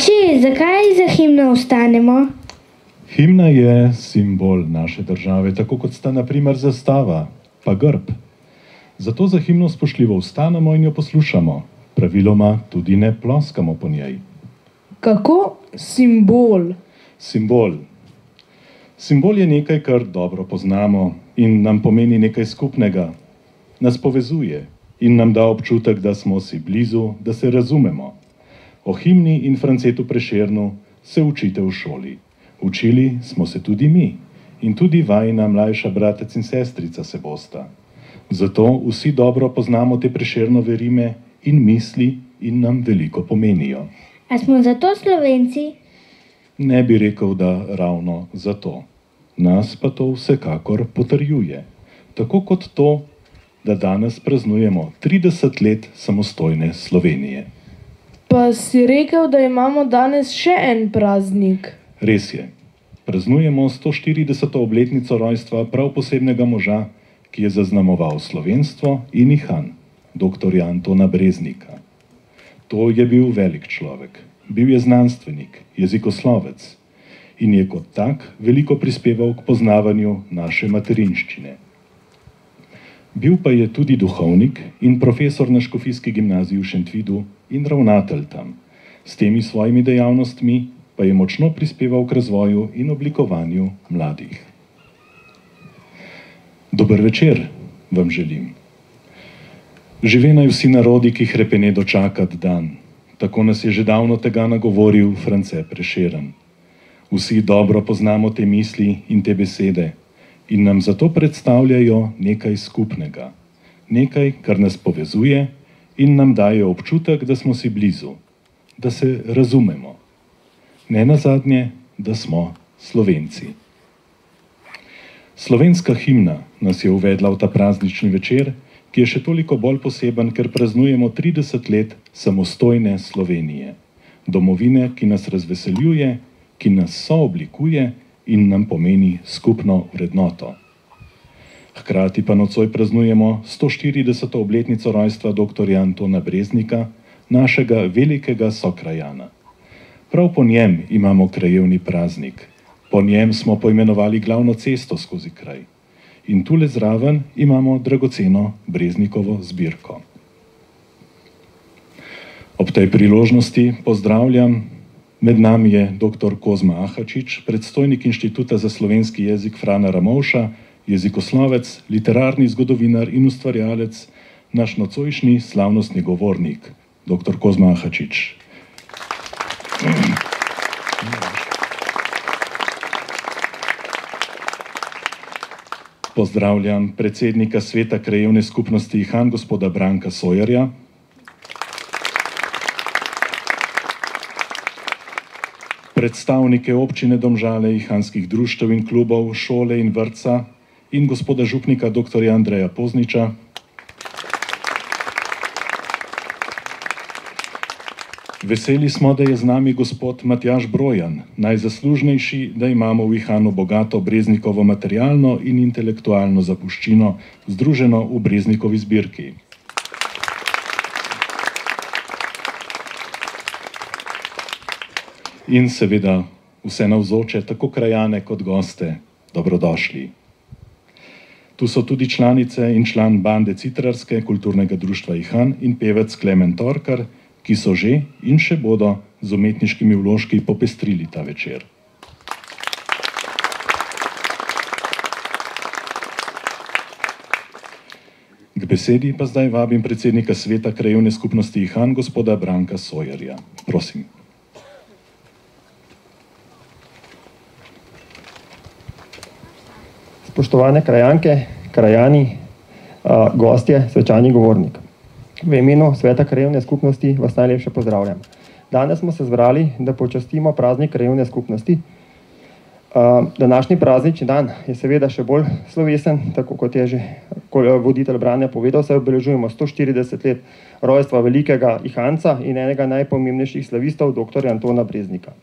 Oči, zakaj za himno vstanemo? Himna je simbol naše države, tako kot sta na primer zastava, pa grb. Zato za himno spoštljivo vstanemo in jo poslušamo. Praviloma tudi ne ploskamo po njej. Kako simbol? Simbol. Simbol je nekaj, kar dobro poznamo in nam pomeni nekaj skupnega. Nas povezuje in nam da občutek, da smo si blizu, da se razumemo. O himni in Francetu Prešernu se učite v šoli. Učili smo se tudi mi in tudi vajina mlajša bratec in sestrica se bosta. Zato vsi dobro poznamo te Prešernove rime in misli in nam veliko pomenijo. A smo zato Slovenci? Ne bi rekel, da ravno zato. Nas pa to vsekakor potrjuje. Tako kot to, da danes praznujemo 30 let samostojne Slovenije. Pa si rekel, da imamo danes še en praznik. Res je. Praznujemo 140. obletnico rojstva prav posebnega moža, ki je zaznamoval slovenstvo in ihan, dr. Antona Breznika. To je bil velik človek. Bil je znanstvenik, jezikoslovec in je kot tak veliko prispeval k poznavanju naše materinščine. Bil pa je tudi duhovnik in profesor na Škofijski gimnaziji v Šentvidu in ravnatelj tam. S temi svojimi dejavnostmi pa je močno prispeval k razvoju in oblikovanju mladih. Dober večer vam želim. Žive naj vsi narodi, ki hrepene dočakat dan. Tako nas je že davno tega nagovoril France Prešeren. Vsi dobro poznamo te misli in te besede in nam zato predstavljajo nekaj skupnega. Nekaj, kar nas povezuje in nam daje občutek, da smo si blizu, da se razumemo. Ne nazadnje, da smo Slovenci. Slovenska himna nas je uvedla v ta praznični večer, ki je še toliko bolj poseben, ker praznujemo 30 let samostojne Slovenije. Domovine, ki nas razveseljuje, ki nas sooblikuje in nam pomeni skupno vrednoto. Hkrati pa nocoj praznujemo 140. obletnico rojstva dr. Antona Breznika, našega velikega sokrajana. Prav po njem imamo krajevni praznik. Po njem smo poimenovali glavno cesto skozi kraj. In tule zraven imamo dragoceno Breznikovo zbirko. Ob tej priložnosti pozdravljam, med nami je dr. Kozma Ahačič, predstojnik Inštituta za slovenski jezik Frana Ramovša, jezikoslovec, literarni zgodovinar in ustvarjalec, naš nocojšnji slavnostni govornik, dr. Kozma Ahačič. Pozdravljam predsednika Sveta krajevne skupnosti Ihan, gospoda Branka Sojerja. Predstavnike občine Domžale, ihanskih društev in klubov, šole in vrtca in gospoda župnika dr. Andreja Pozniča. Veseli smo, da je z nami gospod Matjaž Brojan, najzaslužnejši, da imamo v Ihanu bogato Breznikovo materialno in intelektualno zapuščino, združeno v Breznikovi zbirki. In seveda vse navzoče, tako krajane kot goste, dobrodošli. Tu so tudi članice in član bande Citrarske, kulturnega društva Ihan in pevec Klemen Torkar, ki so že in še bodo z umetniškimi vložki popestrili ta večer. K besedi pa zdaj vabim predsednika sveta krajevne skupnosti Ihan, gospoda Branka Sojerja. Prosim. Spoštovane krajanke, krajani, gostje, svečani govornik. V imenu sveta krajevne skupnosti vas najlepše pozdravljam. Danes smo se zbrali, da počastimo praznik krajevne skupnosti. Današnji praznični dan je seveda še bolj slovesen, tako kot je že voditelj Brane povedal, saj obeležujemo 140 let rojstva velikega Ihanca in enega najpomembnejših slavistov, dr. Antona Breznika.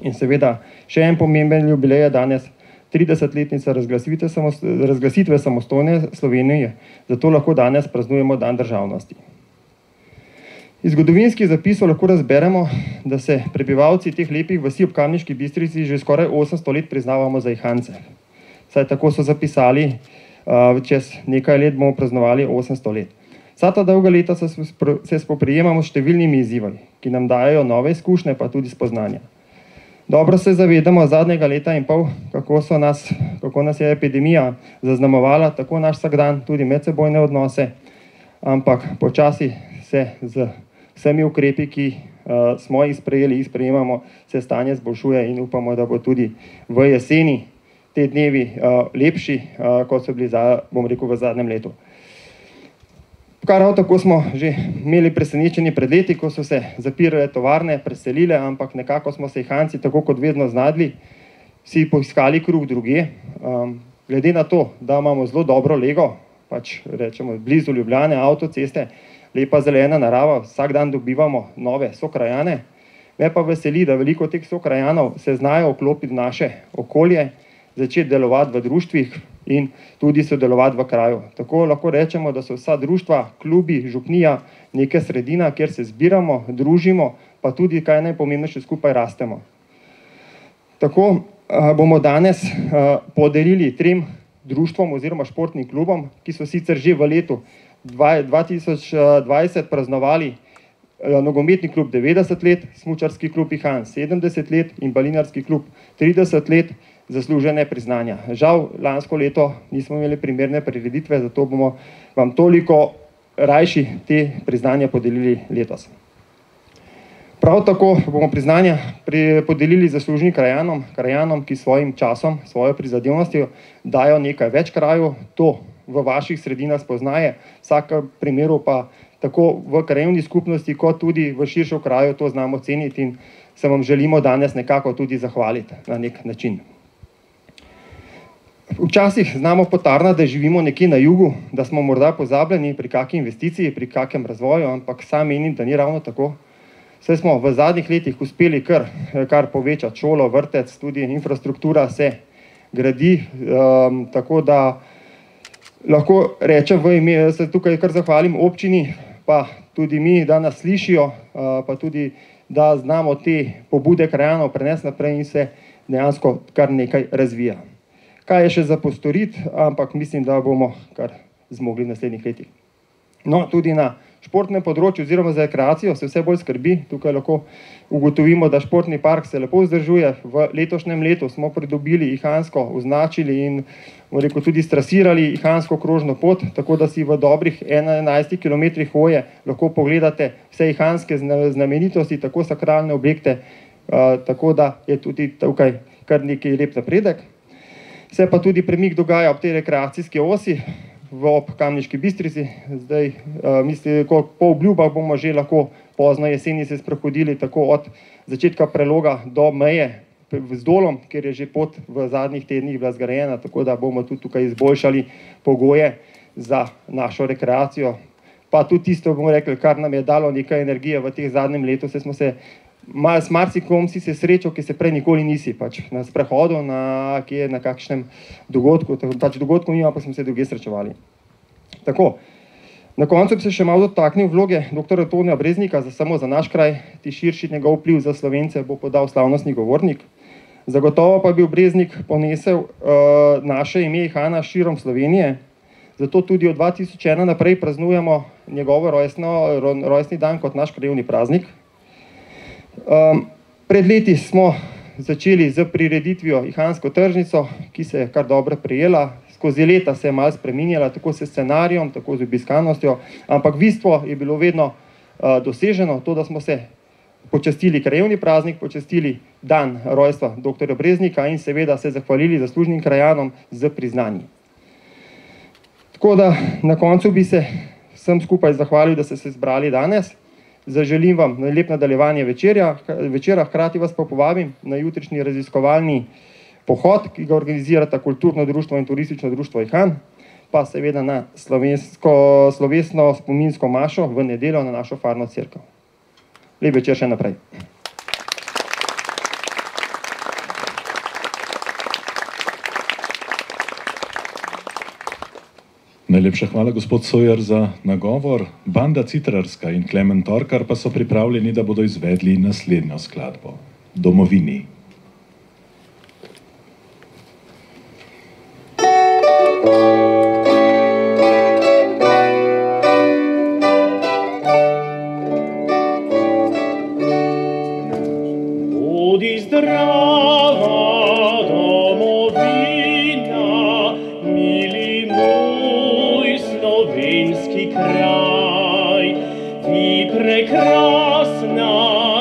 In seveda še en pomemben jubilej je danes 30-letnica razglasitve samostojne Slovenije, zato lahko danes praznujemo dan državnosti. Iz zgodovinskih zapisov lahko razberemo, da se prebivalci teh lepih vasi ob Kamniški Bistrici že skoraj 800 let priznavamo za Ihance. Saj tako so zapisali, čez nekaj let bomo praznovali 800 let. Vsa ta dolga leta se spoprijemamo s številnimi izzivi, ki nam dajejo nove izkušnje, pa tudi spoznanja. Dobro se zavedamo zadnjega leta in pol, kako nas je epidemija zaznamovala, tako naš vsakdan, tudi medsebojne odnose, ampak počasi se z vsemi ukrepi, ki smo jih sprejemamo, se stanje zboljšuje in upamo, da bo tudi v jeseni te dnevi lepši, kot so bili, v zadnjem letu. Prav tako smo že imeli presenečenje pred leti, ko so se zapirale tovarne, preselile, ampak nekako smo se Ihanci, tako kot vedno znadli, si poiskali kruh drugje. Glede na to, da imamo zelo dobro lego, pač rečemo blizu Ljubljane, avtoceste, lepa zelena narava, vsak dan dobivamo nove sokrajane. Me pa veseli, da veliko teh sokrajanov se znajo vklopiti v naše okolje, začeti delovati v društvih in tudi sodelovati v kraju. Tako lahko rečemo, da so vsa društva, klubi, župnija, neka sredina, kjer se zbiramo, družimo, pa tudi, kaj najpomembnejše, skupaj rastemo. Tako bomo danes podelili 3 društvom oziroma športnim klubom, ki so sicer že v letu 2020 praznovali nogometni klub 90 let, smučarski klub Ihan 70 let in balinarski klub 30 let, zaslužene priznanja. Žal, lansko leto nismo imeli primerne prireditve, zato bomo vam toliko rajši te priznanja podelili letos. Prav tako bomo priznanja podelili zaslužnim krajanom, ki svojim časom, svojo prizadevnostjo dajo nekaj več kraju, to v vaših sredinah spoznaje, vsak primeru pa tako v krajevni skupnosti, kot tudi v širšem kraju to znamo ceniti in se vam želimo danes nekako tudi zahvaliti na nek način. Včasih znamo potarnati, da živimo nekje na jugu, da smo morda pozabljeni pri kakšni investiciji, pri kakšnem razvoju, ampak sam menim, da ni ravno tako. Saj smo v zadnjih letih uspeli kar povečati šolo, vrtec, tudi infrastruktura se gradi, tako da lahko rečem, se tukaj kar zahvalim občini, pa tudi mi, da nas slišijo, pa tudi, da znamo te pobude krajanov prenesti naprej in se dejansko kar nekaj razvija. Kaj je še za postoriti, ampak mislim, da bomo kar zmogli v naslednjih letih. No, tudi na športnem področju oziroma za rekreacijo se vse bolj skrbi. Tukaj lahko ugotovimo, da športni park se lepo vzdržuje. V letošnjem letu smo pridobili Ihansko, označili in tudi strasirali Ihansko krožno pot, tako da si v dobrih 11 km hoje lahko pogledate vse ihanske znamenitosti, tako sakralne objekte, tako da je tudi tukaj kar nekaj lep napredek. Se pa tudi premik dogaja ob tej rekreacijski osi ob Kamniški Bistrici. Zdaj, mislim, po obljubah bomo že lahko pozno jeseni se sprehodili tako od začetka preloga do meje z Dolom, kjer je že pot v zadnjih tednih bila zgrajena, tako da bomo tudi tukaj izboljšali pogoje za našo rekreacijo. Pa tudi tisto, bomo rekli, kar nam je dalo nekaj energije v teh zadnjem letu, se smo se s marsikom si se srečal, ki se prej nikoli nisi, pač na sprehodu, na kakšnem dogodku, pač dogodkov nima, pa smo se druge srečevali. Tako, na koncu bi se še malo dotaknil vloge dr. Antonija Breznika, samo za naš kraj, ti širši njegov vpliv za Slovence bo podal slavnostni govornik. Zagotovo pa bi Breznik ponesel naše ime Ihana širom Slovenije, zato tudi od 2001 naprej praznujemo njegov rojstni dan kot naš krajevni praznik. Pred leti smo začeli z prireditvijo Ihansko tržnico, ki se je kar dobro prijela. Skozi leta se je malo spreminjala, tako s scenarijem, tako z obiskanostjo, ampak bistvo je bilo vedno doseženo, to, da smo se počastili krajevni praznik, počastili dan rojstva dr. Breznika in seveda se zahvalili zaslužnim krajanom z priznanji. Tako da na koncu bi se vsem skupaj zahvalil, da ste se zbrali danes. Zaželim vam lep nadaljevanje večera, hkrati vas pa povabim na jutrišnji raziskovalni pohod, ki ga organizirata Kulturno društvo in Turistično društvo Ihan, pa seveda na slovesno spominsko mašo v nedeljo na našo farno cerkev. Lep večer še naprej. Najlepša hvala, gospod Sojer, za nagovor. Banda Citrarska in Klemen Torkar pa so pripravljeni, da bodo izvedli naslednjo skladbo. Domovini. Budi zdrava, domovina, mili moj slovenski kraj, ti prekrasna,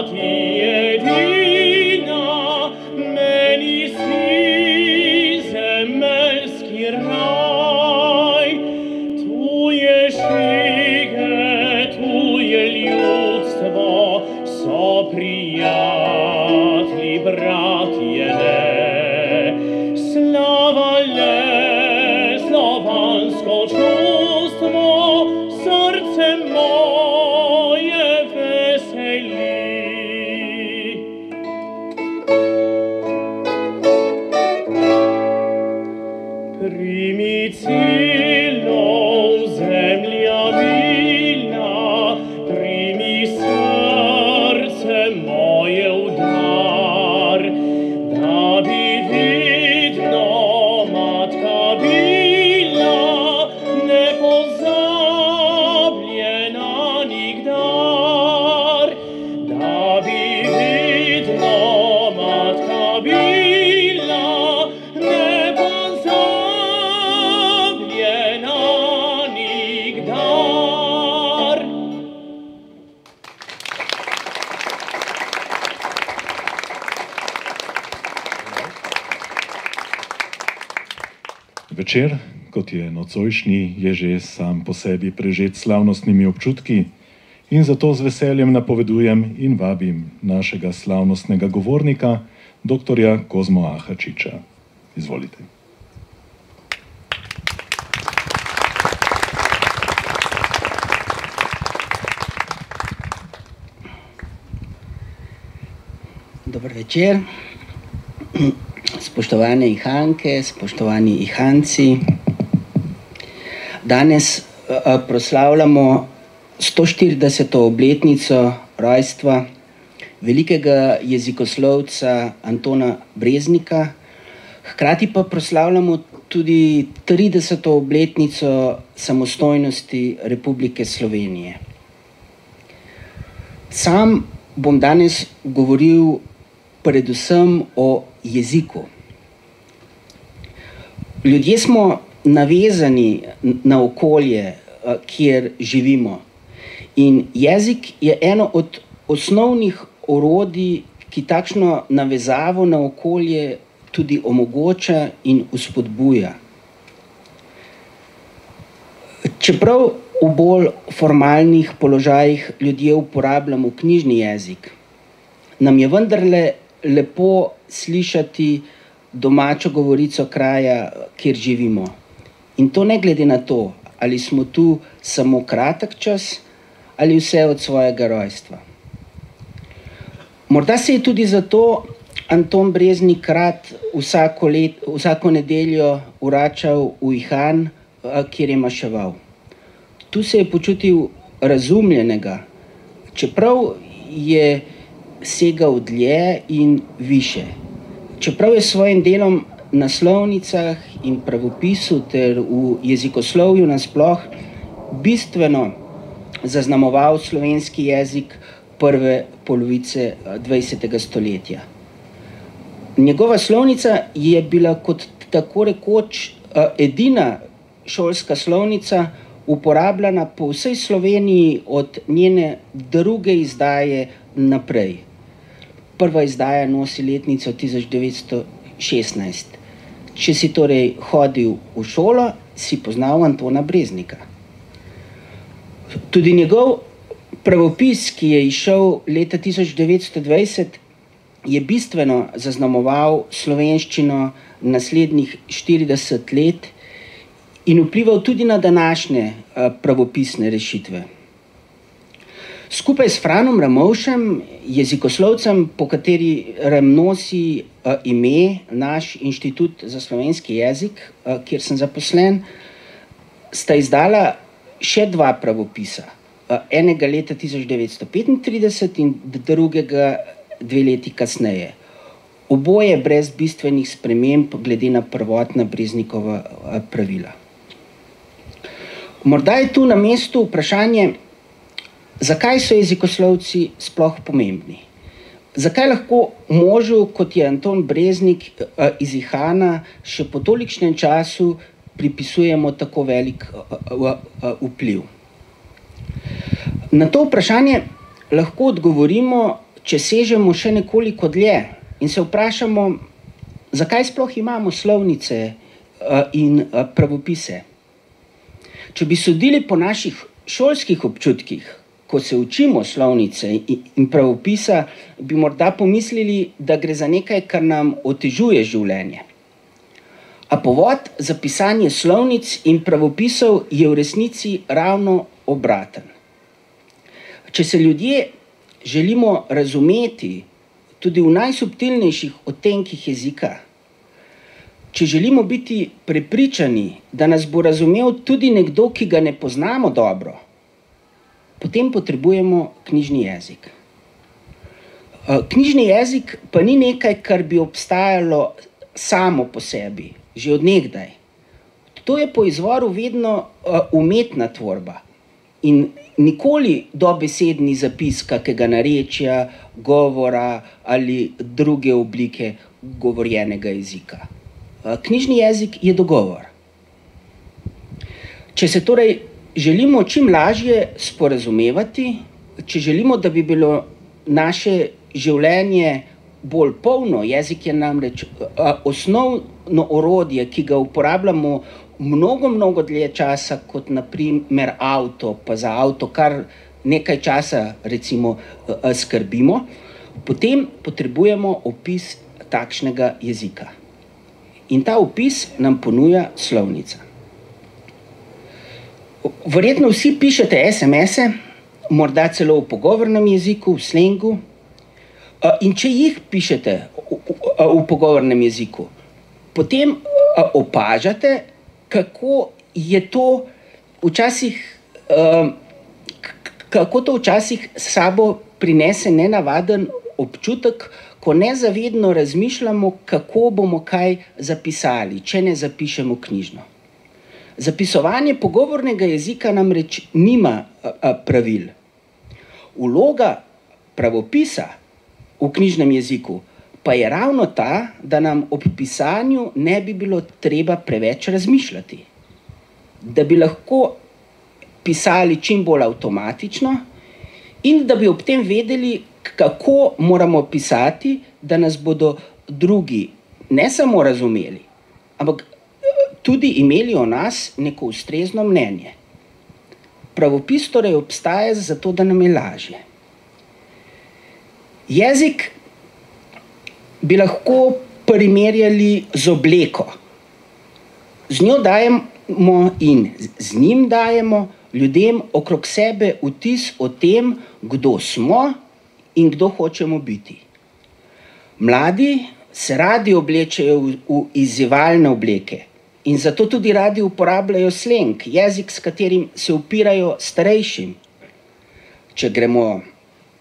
ti edina, meni si zemeljski raj. Tu je šige, tu je ljudstvo, so prijatelji, bratje le, slava le, slovansko čustvo, srce moje veseli. Primi cilov zemlja milna, primi srce moje v dar, da bi vidno matka bila, nepozabljena nikdar, da bi vidno matka bila, nepozabljena nikdar. Večer, kot je nocojšnji, je že sam po sebi prežet slavnostnimi občutki in zato z veseljem napovedujem in vabim našega slavnostnega govornika, dr. Kozmo Ahačiča. Izvolite. Dober večer, spoštovane Ihanke, spoštovani Ihanci. Danes proslavljamo 140. obletnico rojstva velikega jezikoslovca Antona Breznika, hkrati pa proslavljamo tudi 30. obletnico samostojnosti Republike Slovenije. Sam bom danes govoril predvsem o jeziku. Ljudje smo navezani na okolje, kjer živimo. In jezik je eno od osnovnih orodij, ki takšno navezavo na okolje tudi omogoča in vzpodbuja. Čeprav v bolj formalnih položajih ljudje uporabljamo knjižni jezik, nam je vendarle lepo slišati domačo govorico kraja, kjer živimo. In to ne glede na to, ali smo tu samo kratek čas ali vse od svojega rojstva. Morda se je tudi zato Anton Breznik rad vsako nedeljo vračal v Ihan, kjer je maševal. Tu se je počutil razumljenega, čeprav je segal dlje in više. čeprav je s svojim delom na naslovnicah in pravopisu ter v jezikoslovju nasploh bistveno zaznamoval slovenski jezik prve polovice 20. stoletja. Njegova slovnica je bila kot tako rekoč edina šolska slovnica uporabljena po vsej Sloveniji od njene druge izdaje naprej. Prva izdaja nosi letnico 1916. Če si torej hodil v šolo, si poznal Antona Breznika. Tudi njegov pravopis, ki je izšel leta 1920, je bistveno zaznamoval slovenščino naslednjih 40 let in vplival tudi na današnje pravopisne rešitve. Skupaj s Franom Ramovšem, jezikoslovcem, po katerem nosi ime naš Inštitut za slovenski jezik, kjer sem zaposlen, sta izdala še dva pravopisa. Enega leta 1935 in drugega 2 leti kasneje. Oboje brez bistvenih sprememb glede na prvotna Breznikova pravila. Morda je tu na mestu vprašanje, zakaj so jezikoslovci sploh pomembni? Zakaj lahko možu, kot je Anton Breznik iz Ihana, še po tolikšnem času pripisujemo tako velik vpliv? Na to vprašanje lahko odgovorimo, če sežemo še nekoliko dlje in se vprašamo, zakaj sploh imamo slovnice in pravopise. Če bi sodili po naših šolskih občutkih, ko se učimo slovnice in pravopisa, bi morda pomislili, da gre za nekaj, kar nam otežuje življenje. A povod za pisanje slovnic in pravopisov je v resnici ravno obraten. Če se ljudje želimo razumeti tudi v najsubtilnejših odtenkih jezika, če želimo biti prepričani, da nas bo razumel tudi nekdo, ki ga ne poznamo dobro, potem potrebujemo knjižni jezik. Knjižni jezik pa ni nekaj, kar bi obstajalo samo po sebi, že od nekdaj. To je po izvoru vedno umetna tvorba in nikoli dobesedni zapis kakega narečja, govora ali druge oblike govorjenega jezika. Knjižni jezik je dogovor. Če se torej želimo čim lažje sporazumevati, če želimo, da bi bilo naše življenje bolj polno, jezik je namreč osnovno orodje, ki ga uporabljamo mnogo dlje časa, kot na primer avto, pa za avto kar nekaj časa recimo skrbimo, potem potrebujemo opis takšnega jezika. In ta opis nam ponuja slovnica. Verjetno vsi pišete SMS-e, morda celo v pogovornem jeziku, v slengu. In če jih pišete v pogovornem jeziku, potem opažate, kako je to včasih, kako to včasih s sabo prinese nenavaden občutek, ko nezavedno razmišljamo, kako bomo kaj zapisali, če ne zapišemo knjižno. Zapisovanje pogovornega jezika namreč nima pravil. Vloga pravopisa v knjižnem jeziku pa je ravno ta, da nam ob pisanju ne bi bilo treba preveč razmišljati. Da bi lahko pisali čim bolj avtomatično in da bi ob tem vedeli, kako moramo pisati, da nas bodo drugi ne samo razumeli, ampak tudi imeli o nas neko ustrezno mnenje. Pravopis torej obstaja zato, da nam je lažje. Jezik bi lahko primerjali z obleko. Z njo dajemo in z njim dajemo ljudem okrog sebe vtis o tem, kdo smo in kdo hočemo biti. Mladi se radi oblečejo v izzivalne obleke in zato tudi radi uporabljajo sleng, jezik, s katerim se upirajo starejšim. Če gremo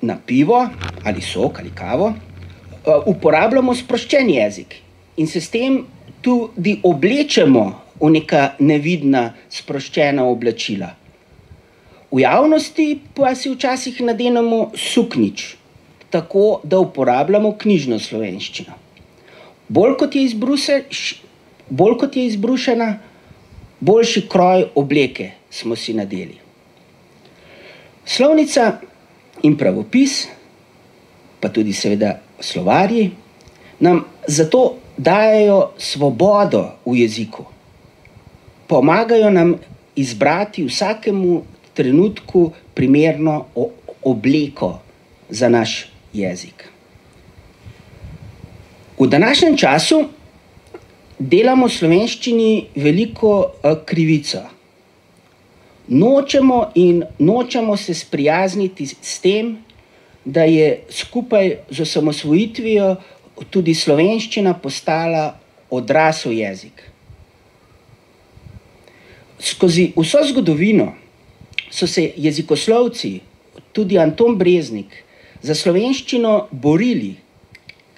na pivo ali sok ali kavo, uporabljamo sproščen jezik in se s tem tudi oblečemo v neka nevidna sproščena oblačila. V javnosti pa si včasih nadenemo suknjič, tako da uporabljamo knjižno slovenščino. Bolj kot je izbrušena, boljši kroj obleke smo si nadeli. Slovnica in pravopis, pa tudi seveda slovarji, nam zato dajejo svobodo v jeziku. Pomagajo nam izbrati vsakemu trenutku primerno obleko za naš jezik. V današnjem času delamo slovenščini veliko krivico. Nočemo se sprijazniti s tem, da je skupaj z osamosvojitvijo tudi slovenščina postala odrasel jezik. Skozi vso zgodovino so se jezikoslovci, tudi Anton Breznik, za slovenščino borili,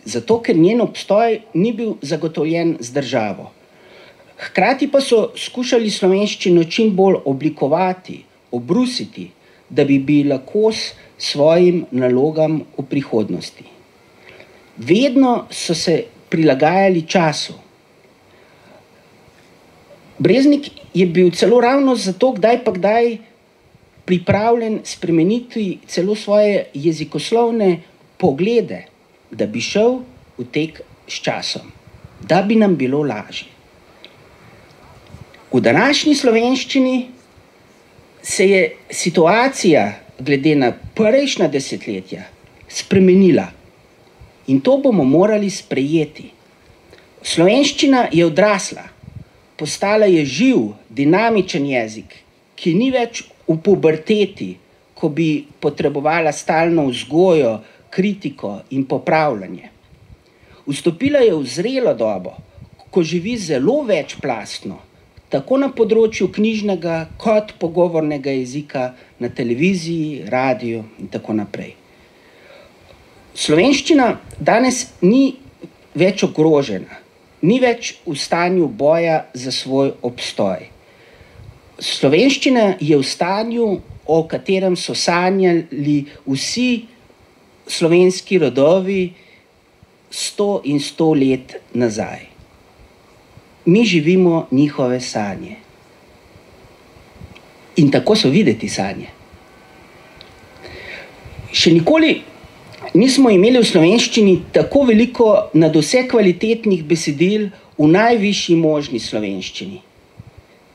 zato ker njen obstoj ni bil zagotovljen z državo. Hkrati pa so skušali slovenščino čim bolj oblikovati, obrusiti, da bi bila kos svojim nalogam v prihodnosti. Vedno so se prilagajali času. Breznik je bil celo ravno zato kdaj pa kdaj pripravljen spremeniti celo svoje jezikoslovne poglede, da bi šel v tek s časom, da bi nam bilo lažje. V današnji slovenščini se je situacija glede na prejšnja desetletja spremenila in to bomo morali sprejeti. Slovenščina je odrasla, postala je živ, dinamičen jezik, ki ni več v puberteti, ko bi potrebovala stalno vzgojo, kritiko in popravljanje. Vstopila je v zrelo dobo, ko živi zelo večplastno, tako na področju knjižnega kot pogovornega jezika na televiziji, radiju in tako naprej. Slovenščina danes ni več ogrožena, ni več v stanju boja za svoj obstoj. Slovenščina je v stanju, o katerem so sanjali vsi slovenski rodovi 100 in 100 let nazaj. Mi živimo njihove sanje. In tako so videti sanje. Še nikoli nismo imeli v slovenščini tako veliko nadvse kvalitetnih besedil v najvišji možni slovenščini.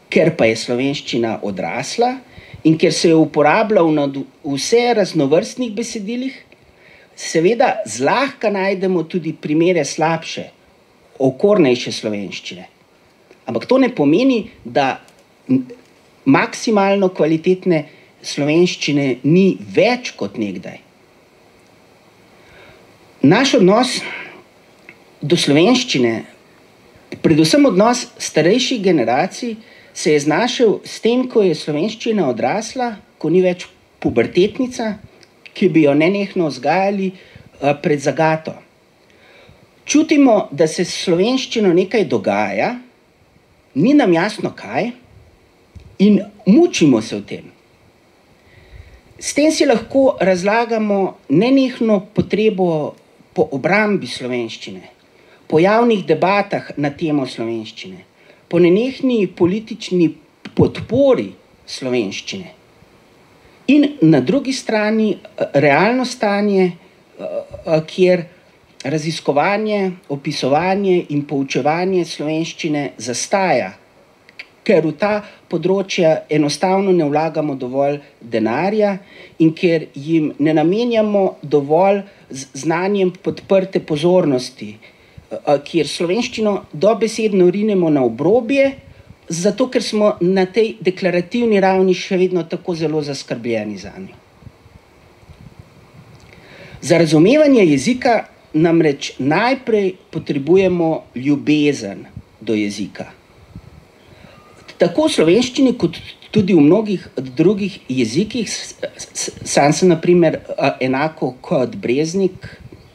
Ker pa je slovenščina odrasla in ker se je uporablja v vse raznovrstnih besedilih, seveda zlahka najdemo tudi primere slabše, okornejše slovenščine. Ampak to ne pomeni, da maksimalno kvalitetne slovenščine ni več kot nekdaj. Naš odnos do slovenščine, predvsem odnos starejših generacij, se je znašel s tem, ko je slovenščina odrasla, ko ni več pubertetnica, ki bi jo nenehno vzgajali pred zagato. Čutimo, da se s slovenščino nekaj dogaja, ni nam jasno kaj in mučimo se v tem. S tem si lahko razlagamo nenehno potrebo po obrambi slovenščine, po javnih debatah na temo slovenščine, po nenehni politični podpori slovenščine. In na drugi strani realno stanje, kjer raziskovanje, opisovanje in poučevanje slovenščine zastaja, ker v ta področja enostavno ne vlagamo dovolj denarja in ker jim ne namenjamo dovolj znanjem podprte pozornosti, kjer slovenščino dobesedno rinemo na obrobje, zato ker smo na tej deklarativni ravni še vedno tako zelo zaskrbljeni zanjo. Za razumevanje jezika namreč najprej potrebujemo ljubezen do jezika. Tako v slovenščini kot tudi v mnogih drugih jezikih, sam sem na primer enako kot Breznik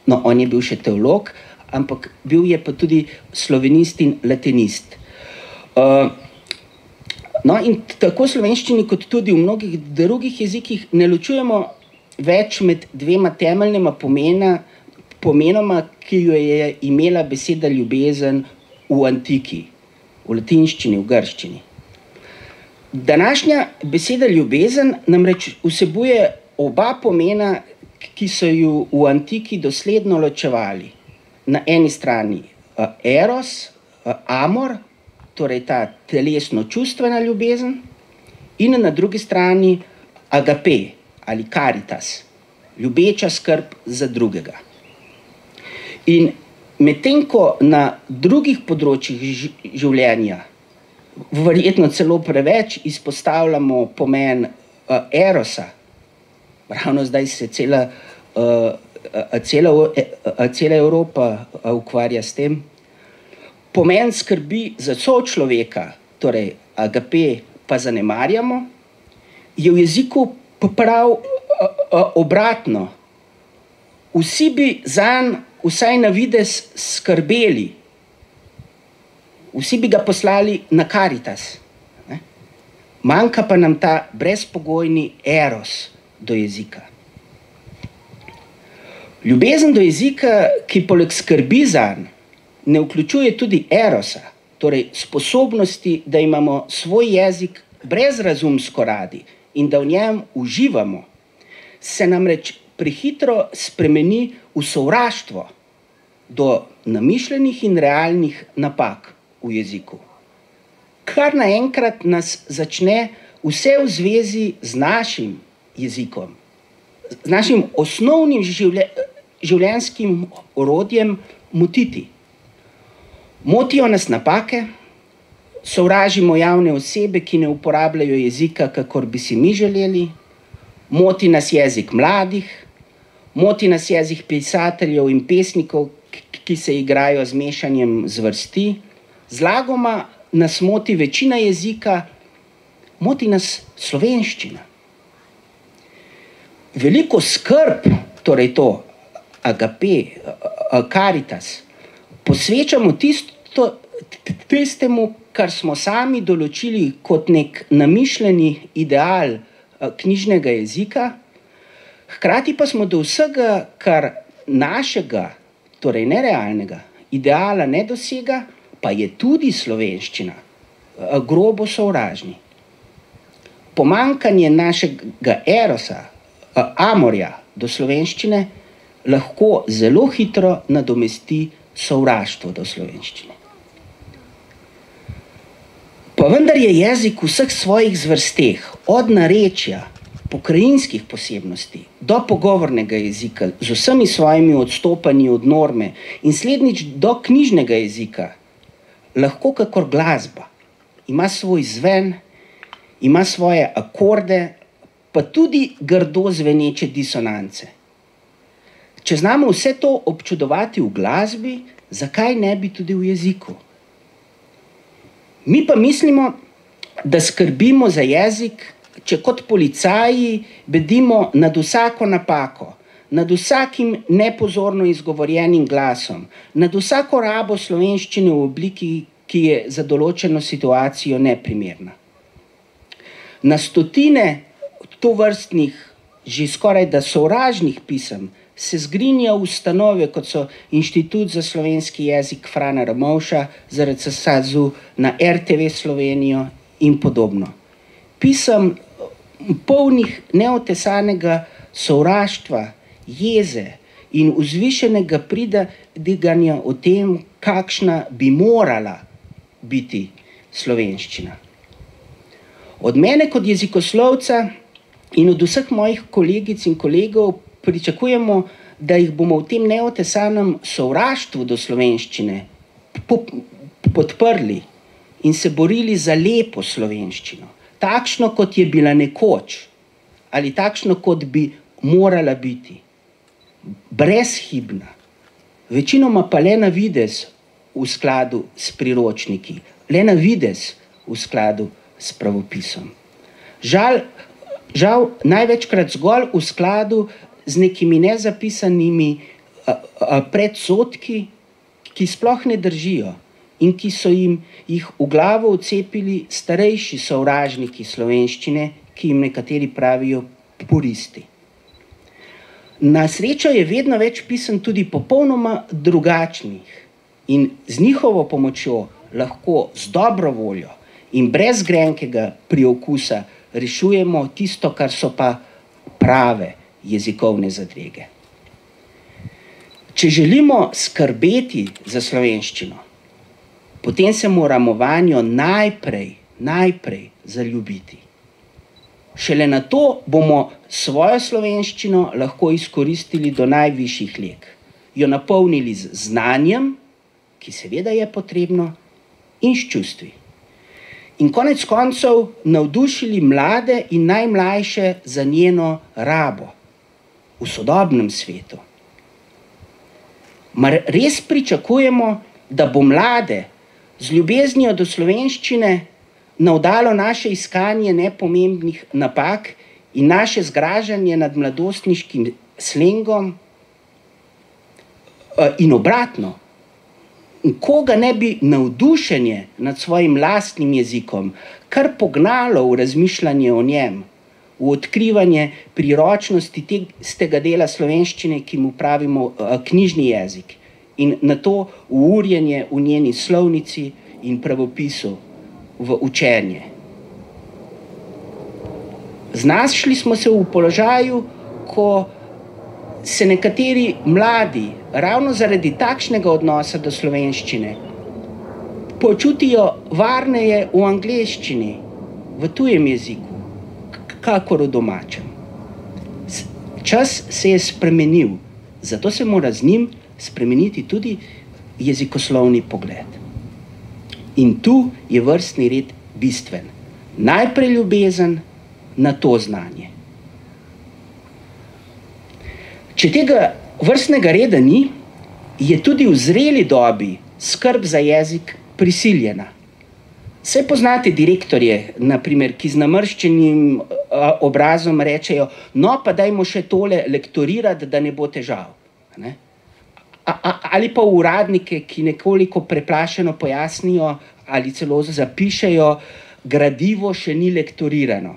no, on je bil še teolog, ampak bil je pa tudi slovenist in latinist. No, in tako v slovenščini, kot tudi v mnogih drugih jezikih, ne ločujemo več med dvema temeljnima pomenoma, ki jo je imela beseda ljubezen v antiki, v latinščini, v grščini. Današnja beseda ljubezen namreč vsebuje oba pomena, ki so ju v antiki dosledno ločevali. Na eni strani eros, amor, torej ta telesno-čustvena ljubezen, in na drugi strani agape ali caritas, ljubeča skrb za drugega. In medtem ko na drugih področjih življenja verjetno celo preveč izpostavljamo pomen erosa, ravno zdaj se cela Evropa ukvarja s tem, pomen skrbi za sočloveka, torej agape, pa zanemarjamo, je v jeziku prav obratno. Vsi bi zanj vsaj na videz skrbeli, vsi bi ga poslali na Caritas. Manjka pa nam ta brezpogojni eros do jezika. Ljubezen do jezika, ki poleg skrbi zanj, ne vključuje tudi erosa, torej sposobnosti, da imamo svoj jezik brezrazumsko radi in da v njem uživamo, se namreč prehitro spremeni v sovraštvo do namišljenih in realnih napak v jeziku. Kar naenkrat nas začne vse v zvezi z našim jezikom, z našim osnovnim življenjskim orodjem motiti. Motijo nas napake, sovražimo javne osebe, ki ne uporabljajo jezika, kakor bi si mi želeli, moti nas jezik mladih, moti nas jezik pisateljev in pesnikov, ki se igrajo z mešanjem zvrsti, zlagoma nas moti večina jezika, moti nas slovenščina. Veliko skrb, torej to agape, caritas, posvečamo tistemu, kar smo sami določili kot nek namišljeni ideal knjižnega jezika, hkrati pa smo do vsega, kar našega, torej nerealnega ideala ne dosega, pa je tudi slovenščina, grobo sovražni. Pomanjkanje našega erosa, amorja do slovenščine, lahko zelo hitro nadomesti sovraštvo do slovenščine. Pa vendar je jezik v vseh svojih zvrsteh, od narečja, pokrajinskih posebnosti, do pogovornega jezika, z vsemi svojimi odstopanji od norme in slednjič do knjižnega jezika, lahko kakor glasba, ima svoj zven, ima svoje akorde, pa tudi grdo zveneče disonance. Če znamo vse to občudovati v glasbi, zakaj ne bi tudi v jeziku? Mi pa mislimo, da skrbimo za jezik, če kot policaji bedimo nad vsako napako, nad vsakim nepozorno izgovorjenim glasom, nad vsako rabo slovenščine v obliki, ki je za določeno situacijo neprimerna. Na stotine tovrstnih, že skoraj da sovražnih pisem, se zgrinja ustanove, kot so Inštitut za slovenski jezik Frana Ramovša, ZRC SAZU, na RTV Slovenijo in podobno. Pisem polnih neotesanega sovraštva, jeze in vzvišenega pridiganja o tem, kakšna bi morala biti slovenščina. Od mene kot jezikoslovca in od vseh mojih kolegic in kolegov pričakujemo, da jih bomo v tem neotesanem sovraštvu do slovenščine podprli in se borili za lepo slovenščino, takšno, kot je bila nekoč, ali takšno, kot bi morala biti. Brezhibna, večinoma pa le na videz v skladu s priročniki, le na videz v skladu s pravopisom. Žal, največkrat zgolj v skladu z nekimi nezapisanimi predsodki, ki sploh ne držijo in ki so jih v glavo vcepili starejši sovražniki slovenščine, ki jim nekateri pravijo puristi. Na srečo je vedno več pisem tudi popolnoma drugačnih in z njihovo pomočjo lahko z dobro voljo in brez grenkega priokusa rešujemo tisto, kar so pa prave jezikovne zadrege. Če želimo skrbeti za slovenščino, potem se moramo vanjo najprej zaljubiti. Šele na to bomo svojo slovenščino lahko izkoristili do najvišjih leg, jo napolnili z znanjem, ki seveda je potrebno, in s čustvi. In konec koncev navdušili mlade in najmlajše za njeno rabo v sodobnem svetu. Mar res pričakujemo, da bo mlade z ljubeznijo do slovenščine navdalo naše iskanje nepomembnih napak in naše zgražanje nad mladostniškim slengom in obratno? Koga ne bi navdušenje nad svojim lastnim jezikom kar pognalo v razmišljanje o njem, v odkrivanje priročnosti tega dela slovenščine, ki mu pravimo knjižni jezik, in na to v urjenje v njeni slovnici in pravopisu, v učenje. Znašli smo se v položaju, ko se nekateri mladi ravno zaradi takšnega odnosa do slovenščine počutijo varneje v angleščini, v tujem jeziku, kakor v domačem. Čas se je spremenil, zato se mora z njim spremeniti tudi jezikoslovni pogled. In tu je vrstni red bistven. Najprej ljubezen, nato znanje. Če tega vrstnega reda ni, je tudi v zreli dobi skrb za jezik prisiljena. Saj poznate direktorje, naprimer, ki z namrščenim obrazom rečejo, no pa dajmo še tole lektorirati, da ne bo težav. Ne? Ali pa uradnike, ki nekoliko preplašeno pojasnijo ali celo zapišejo, gradivo še ni lektorirano.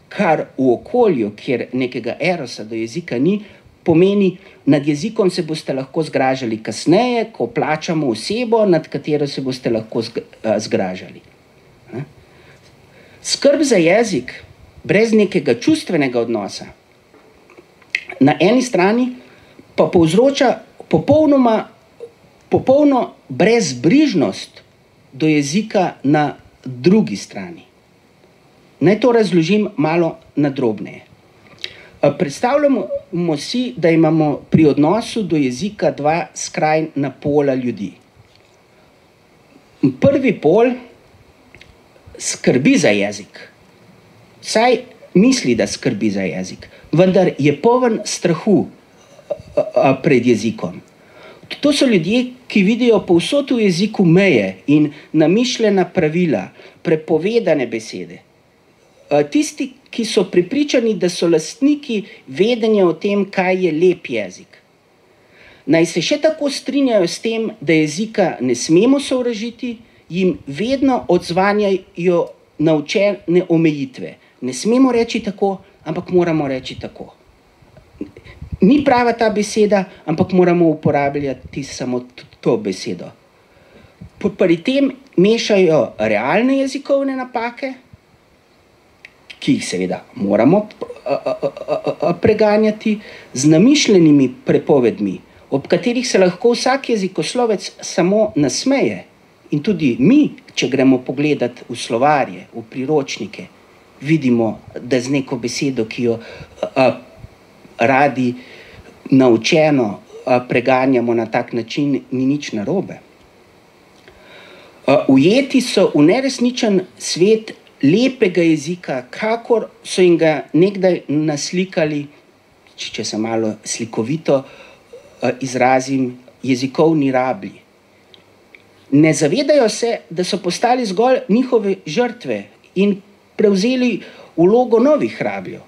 Kar v okolju, kjer nekega erosa do jezika ni, pomeni, nad jezikom se boste lahko zgražali kasneje, ko plačamo osebo, nad katero se boste lahko zgražali. Skrb za jezik brez nekega čustvenega odnosa na eni strani pa povzroča popolno brezbrižnost do jezika na drugi strani. Naj to razložim malo nadrobneje. Predstavljamo si, da imamo pri odnosu do jezika dva skrajna pola ljudi. Prvi pol skrbi za jezik. Saj misli, da skrbi za jezik, vendar je poln strahu pred jezikom. To so ljudje, ki vidijo povsod v jeziku meje in namišljena pravila, prepovedane besede. Tisti, ki so prepričani, da so lastniki vedenja o tem, kaj je lep jezik. Naj se še tako strinjajo s tem, da jezika ne smemo sovražiti, jim vedno odzvanjajo naučene omejitve. Ne smemo reči tako, ampak moramo reči tako. Ni prava ta beseda, ampak moramo uporabljati samo to besedo. Pri tem mešajo realne jezikovne napake, ki jih seveda moramo preganjati, z namišljenimi prepovedmi, ob katerih se lahko vsak jezikoslovec samo nasmeje. In tudi mi, če gremo pogledat v slovarje, v priročnike, vidimo, da z neko besedo, ki jo radi naučeno preganjamo na tak način, ni nič narobe. Ujeti so v neresničen svet lepega jezika, kakor so jim ga nekdaj naslikali, če se malo slikovito izrazim, jezikovni rablji. Ne zavedajo se, da so postali zgolj njihove žrtve in prevzeli vlogo novih rabljev.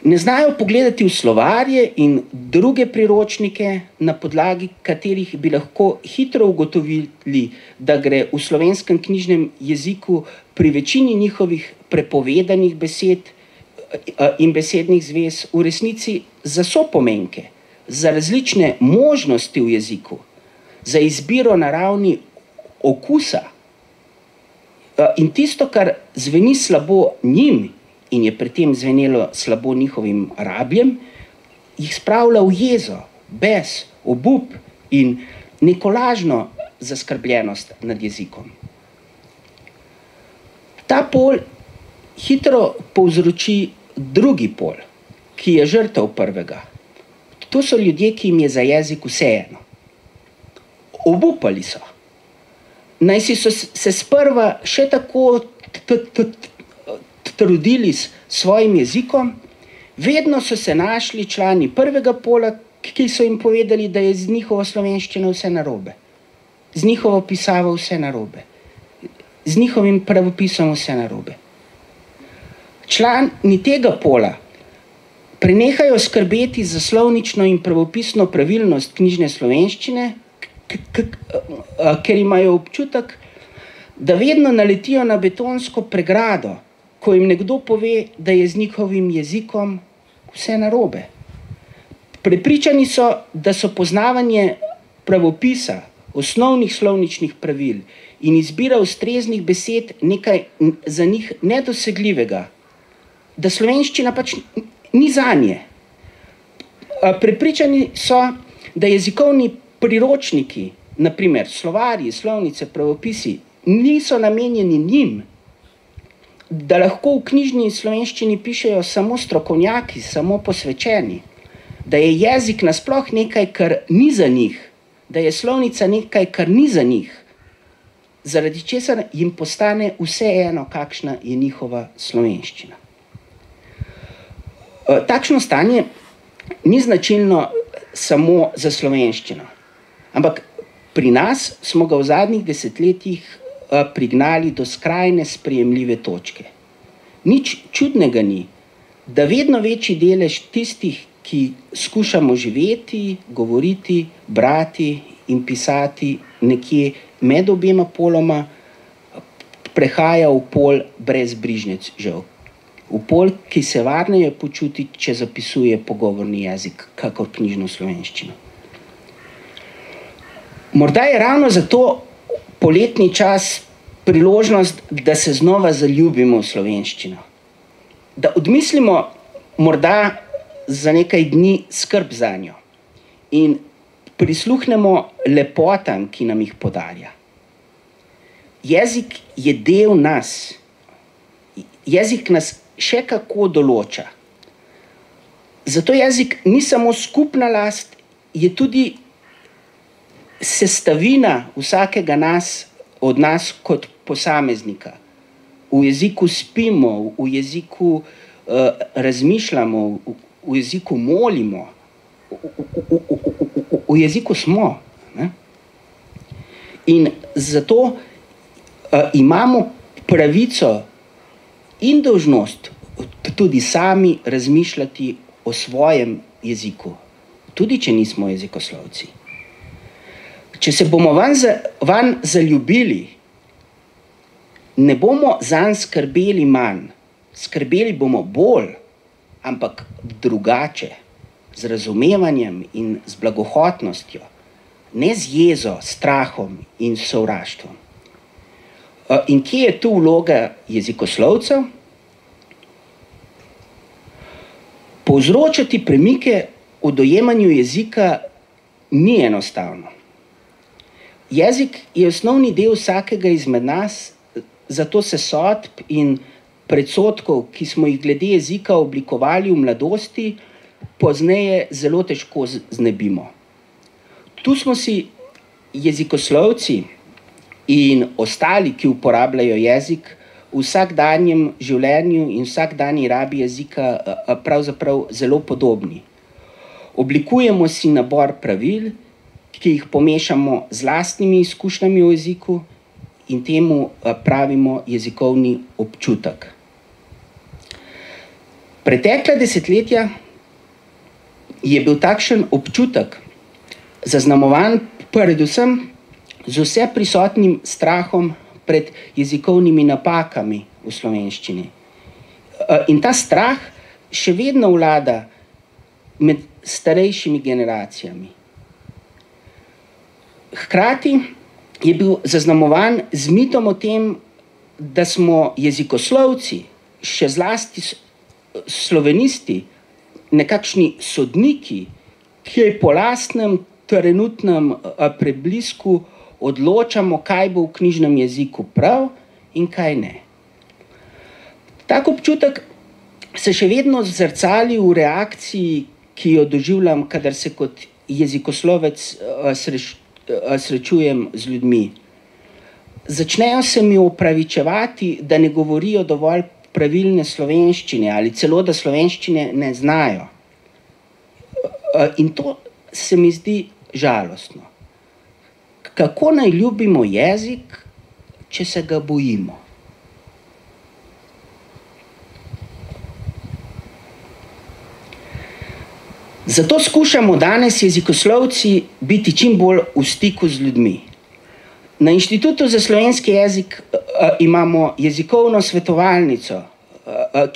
Ne znajo pogledati v slovarje in druge priročnike, na podlagi katerih bi lahko hitro ugotovili, da gre v slovenskem knjižnem jeziku pri večini njihovih prepovedanih besed in besednih zvez v resnici za sopomenke, za različne možnosti v jeziku, za izbiro na ravni okusa. In tisto, kar zveni slabo njim in je pri tem zvenelo slabo njihovim rabljem, jih spravlja v jezo, bes, obup in neko lažno zaskrbljenost nad jezikom. Ta pol hitro povzroči drugi pol, ki je žrtev prvega. To so ljudje, ki jim je za jezik vseeno. Obupali so. Najsi so se sprva še tako trudili s svojim jezikom, vedno so se našli člani prvega pola, ki so jim povedali, da je z njihovo slovenščino vse narobe, z njihovo pisavo vse narobe, z njihovim pravopisom vse narobe. Člani tega pola prenehajo skrbeti za slovnično in pravopisno pravilnost knjižne slovenščine, ker imajo občutek, da vedno naletijo na betonsko pregrado, ko jim nekdo pove, da je z njihovim jezikom vse narobe. Prepričani so, da so poznavanje pravopisa, osnovnih slovničnih pravil in izbira ustreznih besed nekaj za njih nedosegljivega, da slovenščina pač ni zanje. Prepričani so, da jezikovni priročniki, na primer slovarji, slovnice, pravopisi, niso namenjeni njim, da lahko v knjižni slovenščini pišejo samo strokovnjaki, samo posvečeni, da je jezik nasploh nekaj, kar ni za njih, da je slovnica nekaj, kar ni za njih, zaradi česar jim postane vseeno, kakšna je njihova slovenščina. Takšno stanje ni značilno samo za slovenščino, ampak pri nas smo ga v zadnjih desetletjih prignali do skrajne sprejemljive točke. Nič čudnega ni, da vedno večji delež tistih, ki skušamo živeti, govoriti, brati in pisati nekje med obema poloma, prehaja v pol brezbrižnec žal. V pol, ki se varneje počuti, če zapisuje pogovorni jezik, kakor knjižno slovenščino. Morda je ravno zato poletni čas priložnost, da se znova zaljubimo v slovenščino. Da odmislimo morda za nekaj dni skrb zanjo in prisluhnemo lepotam, ki nam jih podarja. Jezik je del nas. Jezik nas še kako določa. Zato jezik ni samo skupna last, je tudi sestavina vsakega od nas kot posameznika. V jeziku spimo, v jeziku razmišljamo, v jeziku molimo, v jeziku smo. Ne? In zato imamo pravico in dolžnost tudi sami razmišljati o svojem jeziku, tudi če nismo jezikoslovci. Če se bomo vanj zaljubili, ne bomo zanj skrbeli manj, skrbeli bomo bolj, ampak drugače, z razumevanjem in z blagohotnostjo, ne z jezo, strahom in sovraštvom. In kje je tu vloga jezikoslovcev? Povzročati premike v dojemanju jezika ni enostavno. Jezik je osnovni del vsakega izmed nas, zato se sodb in predsodkov, ki smo jih glede jezika oblikovali v mladosti, pozneje zelo težko znebimo. Tu smo si jezikoslovci in ostali, ki uporabljajo jezik, v vsakdanjem življenju in vsakdanji rabi jezika pravzaprav zelo podobni. Oblikujemo si nabor pravil, ki jih pomešamo z lastnimi izkušnjami v jeziku in temu pravimo jezikovni občutek. Pretekla desetletja je bil takšen občutek zaznamovan predvsem z vse prisotnim strahom pred jezikovnimi napakami v slovenščini. In ta strah še vedno vlada med starejšimi generacijami. Hkrati je bil zaznamovan z mitom o tem, da smo jezikoslovci, še zlasti slovenisti, nekakšni sodniki, ki po lastnem trenutnem preblisku odločamo, kaj bo v knjižnem jeziku prav in kaj ne. Tak občutek se še vedno zrcali v reakciji, ki jo doživljam, kadar se kot jezikoslovec srečujem z ljudmi. Začnejo se mi opravičevati, da ne govorijo dovolj pravilne slovenščine ali celo, da slovenščine ne znajo. In to se mi zdi žalostno. Kako naj ljubimo jezik, če se ga bojimo? Zato skušamo danes jezikoslovci biti čim bolj v stiku z ljudmi. Na Inštitutu za slovenski jezik imamo jezikovno svetovalnico,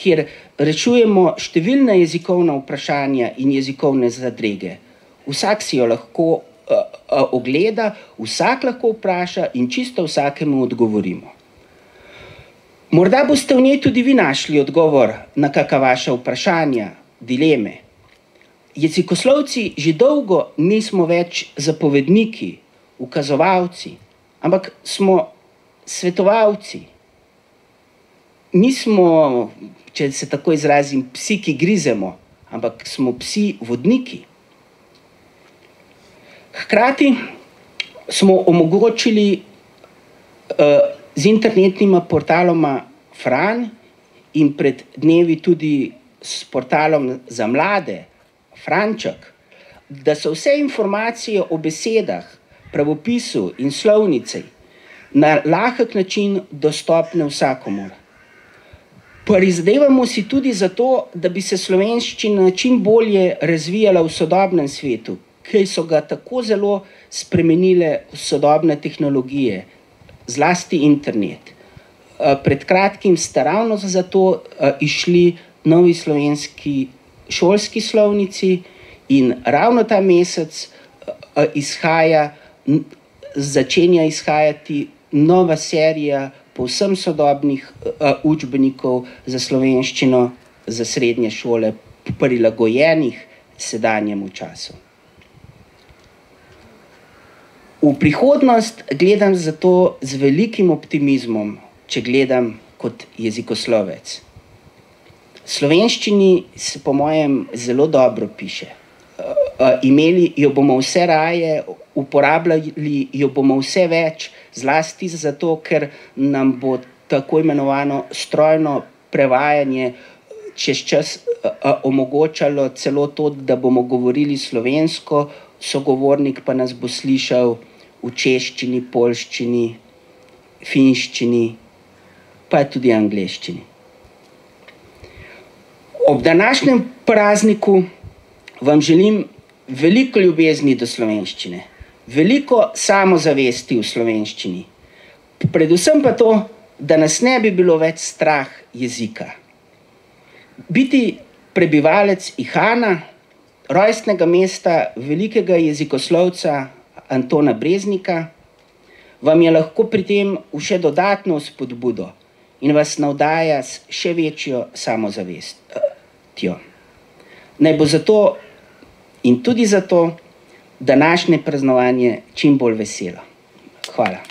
kjer rešujemo številna jezikovna vprašanja in jezikovne zadrege. Vsak si jo lahko ogleda, vsak lahko vpraša in čisto vsakemu odgovorimo. Morda boste v njej tudi vi našli odgovor na kakšna vaša vprašanja, dileme. Jezikoslovci že dolgo nismo več zapovedniki, ukazovalci, ampak smo svetovalci. Nismo, če se tako izrazim, psi, ki grizemo, ampak smo psi vodniki. Hkrati smo omogočili z internetnima portaloma Fran in pred dnevi tudi s portalom za mlade Franček, da so vse informacije o besedah, pravopisu in slovnici na lahek način dostopne vsakomur. Prizadevamo si tudi za to, da bi se slovenščina čim bolje razvijala v sodobnem svetu, ki so ga tako zelo spremenile sodobne tehnologije, zlasti internet. Pred kratkim sta ravno zato išli novi slovenski šolski slovnici in ravno ta mesec začenja izhajati nova serija povsem sodobnih učbenikov za slovenščino za srednje šole, prilagojenih sedanjemu času. V prihodnost gledam zato z velikim optimizmom, če gledam kot jezikoslovec. Slovenščini se po mojem zelo dobro piše. Imeli jo bomo vse raje, uporabljali jo bomo vse več, zlasti zato, ker nam bo tako imenovano strojno prevajanje čez čas omogočalo celo to, da bomo govorili slovensko, sogovornik pa nas bo slišal v češčini, poljščini, finščini, pa tudi angleščini. Ob današnjem prazniku vam želim veliko ljubezni do slovenščine, veliko samozavesti v slovenščini, predvsem pa to, da nas ne bi bilo več strah jezika. Biti prebivalec Ihana, rojstnega mesta velikega jezikoslovca Antona Breznika, vam je lahko pri tem v še dodatno spodbudo in vas navdaja s še večjo samozavestjo. Naj bo zato in tudi zato današnje praznovanje čim bolj veselo. Hvala.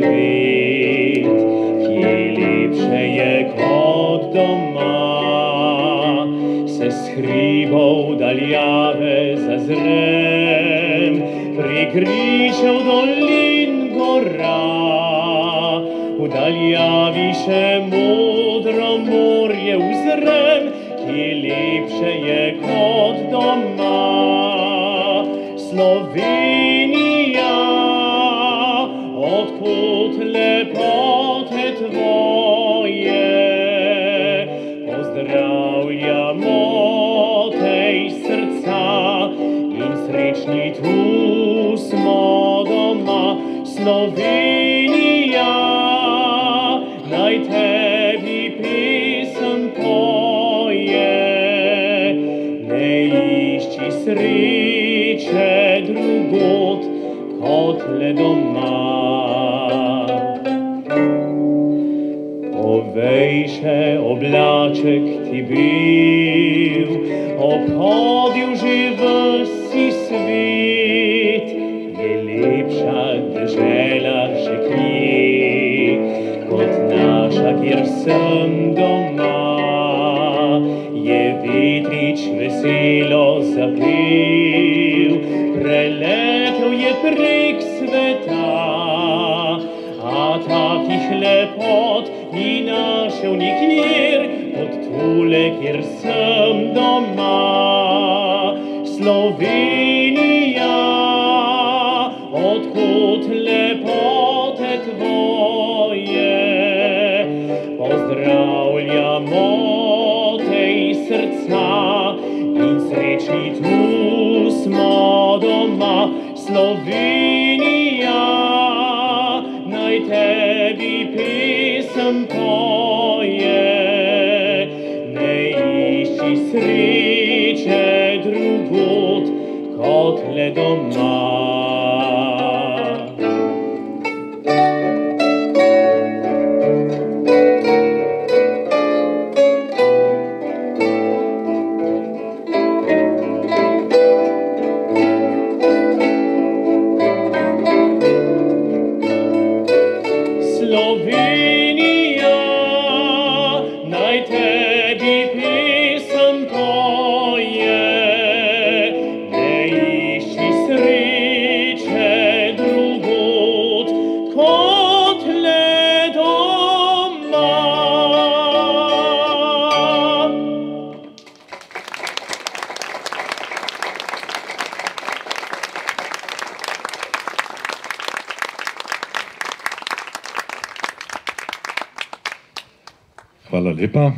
svet, kje lepše je kot doma. Se s hribov daljave zazrem, prek gričev dolin gora. V daljavi še modro morje uzrem, kje lepše je kot doma. Slovenija, odkud lepote tvoje, pozdravljamo te iz srca in srečni tu smo doma. Slovenija, naj tebi pesem poje, ne išči sreče drugod kot le doma. Povej še oblaček ti bil, obhodil že vsi svet, je lepša dežela še kje, kot naša, kjer sem doma. Je vetrič veselo zapel, preletel je prek sveta, a takih lepot ni našel nikjer, kot tule, kjer sem doma. Slovenija, odkud lepote tvoje, pozdravljamo te iz srca in srečni tu smo doma. Slovenija, naj tebi pesem poje, ne išči sreče drugod kot le doma. Slovenija, naj tebi pesem poje, ne išči sreče drugod kot le doma. Hvala lepa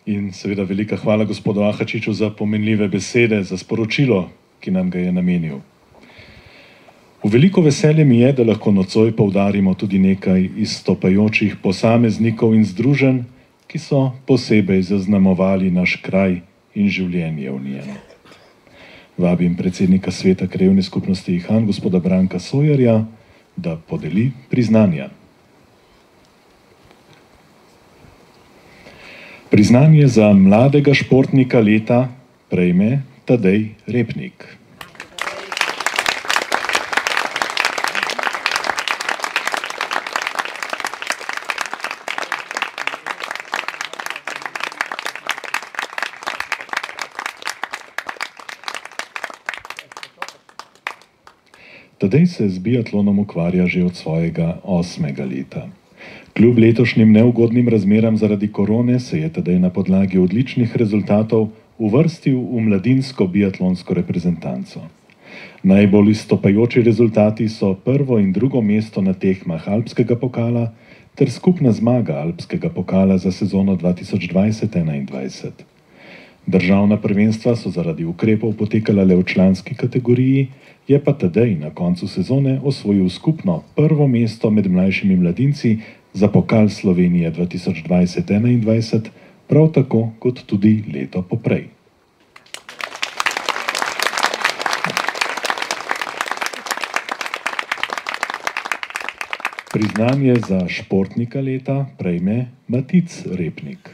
in seveda velika hvala gospodu Ahačiču za pomenljive besede, za sporočilo, ki nam ga je namenil. V veliko veselje mi je, da lahko nocoj poudarimo tudi nekaj izstopajočih posameznikov in združenj, ki so posebej zaznamovali naš kraj in življenje v njem. Vabim predsednika sveta Krajevne skupnosti Ihan, gospoda Branka Sojerja, da podeli priznanja. Priznanje za mladega športnika leta prejme Tadej Repnik. Tadej se z biatlonom ukvarja že od svojega 8. leta. Kljub letošnjim neugodnim razmeram zaradi korone se je Tadej na podlagi odličnih rezultatov uvrstil v mladinsko biatlonsko reprezentanco. Najbolj izstopajoči rezultati so prvo in drugo mesto na tekmah Alpskega pokala ter skupna zmaga Alpskega pokala za sezono 2020-2021. Državna prvenstva so zaradi ukrepov potekala le v članski kategoriji, je pa Tadej na koncu sezone osvojil skupno prvo mesto med mlajšimi mladinci za pokal Slovenije 2020-2021, prav tako kot tudi leto poprej. Priznanje za športnika leta prejme Matic Repnik.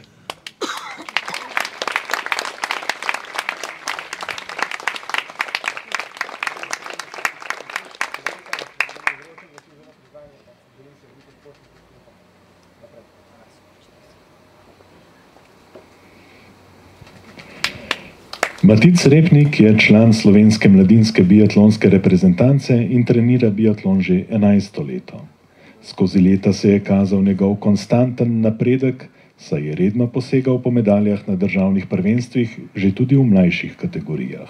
Matic Repnik je član slovenske mladinske biatlonske reprezentance in trenira biatlon že 11. leto. Skozi leta se je kazal njegov konstanten napredek, saj je redno posegal po medaljah na državnih prvenstvih, že tudi v mlajših kategorijah.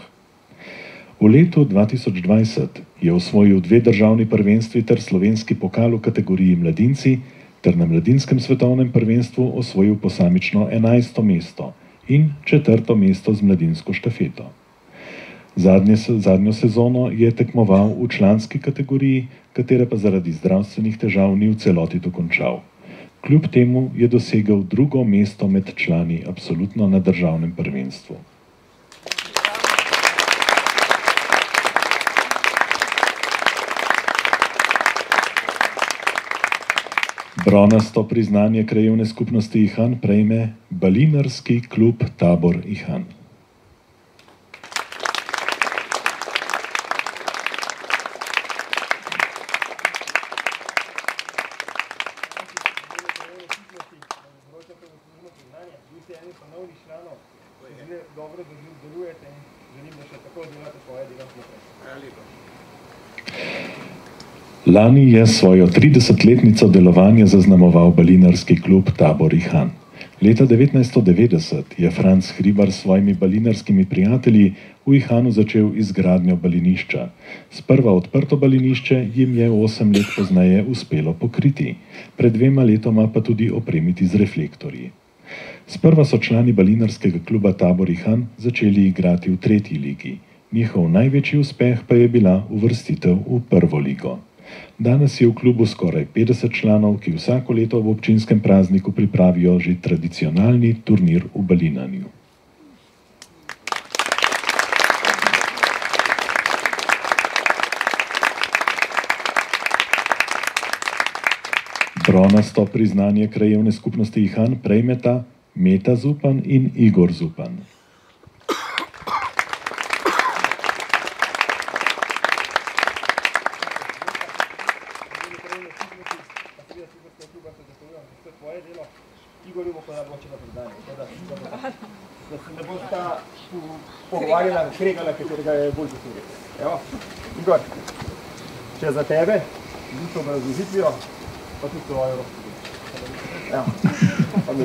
V letu 2020 je osvojil 2 državni prvenstvi ter slovenski pokal v kategoriji mladinci, ter na mladinskem svetovnem prvenstvu osvojil posamično 11. mesto in 4. mesto z mladinsko štafeto. Zadnjo sezono je tekmoval v članski kategoriji, katere pa zaradi zdravstvenih težav ni v celoti dokončal. Kljub temu je dosegel 2. mesto med člani absolutno na državnem prvenstvu. Bronasto priznanje krajevne skupnosti Ihan prejme Balinarski klub Tabor Ihan. Lani je svojo 30-letnico delovanja zaznamoval Balinarski klub Tabor Ihan. Leta 1990 je Franc Hribar s svojimi balinarskimi prijatelji v Ihanu začel izgradnjo balinišča. Sprva odprto balinišče jim je 8 let pozneje uspelo pokriti, pred 2 letoma pa tudi opremiti z reflektorji. Sprva so člani balinarskega kluba Tabor Ihan začeli igrati v 3. ligi. Njihov največji uspeh pa je bila uvrstitev v 1. ligo. Danes je v klubu skoraj 50 članov, ki vsako leto v občinskem prazniku pripravijo že tradicionalni turnir v balinanju. Bronasto priznanje krajevne skupnosti Ihan prejmeta Meta Zupan in Igor Zupan. Da se ne bosta pogovarjala, kregala, katerega je bolj zaslužil. Evo, Igor, če za tebe, z obrazložitvijo, pa tudi svojo rozpovedjo. Evo, pa mi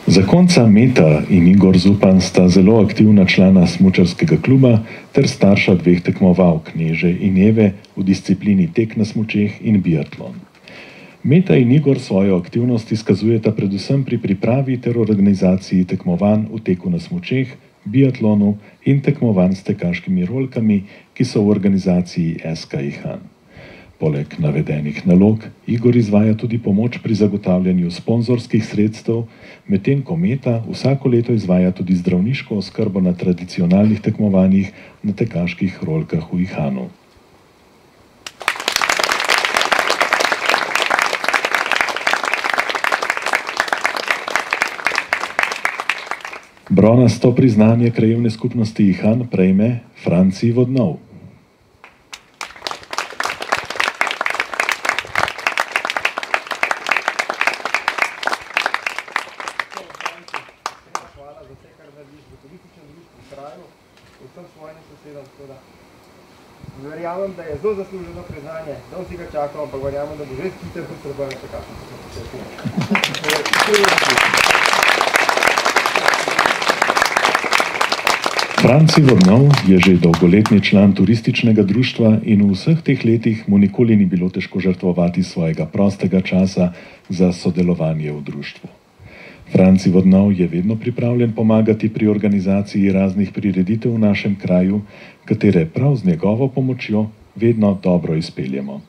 Zakonca Meta in Igor Zupan sta zelo aktivna člana smučarskega kluba ter starša 2 tekmovalk, Neže in Eve, v disciplini tek na smučeh in biatlon. Meta in Igor svojo aktivnost izkazujeta predvsem pri pripravi ter organizaciji tekmovanj v teku na smučeh, biatlonu in tekmovanj s tekaškimi rolkami, ki so v organizaciji SK Ihan. Poleg navedenih nalog, Igor izvaja tudi pomoč pri zagotavljanju sponzorskih sredstev, medtem ko Meta vsako leto izvaja tudi zdravniško oskrbo na tradicionalnih tekmovanjih na tekaških rolkah v Ihanu. Bronasto priznanje krajevne skupnosti Ihan prejme Franci Vodnov. Hvala za vse, kar narediš v turističnem društvu v kraju, vsem svojim sosedom. Verjamem, da je zelo zasluženo priznanje, da vsi ga čakamo, ampak verjamem, da bo že skiter potrebno čakati. Franci Vodnov je že dolgoletni član turističnega društva in v vseh teh letih mu nikoli ni bilo težko žrtvovati svojega prostega časa za sodelovanje v društvu. Franci Vodnov je vedno pripravljen pomagati pri organizaciji raznih prireditev v našem kraju, katere prav z njegovo pomočjo vedno dobro izpeljemo.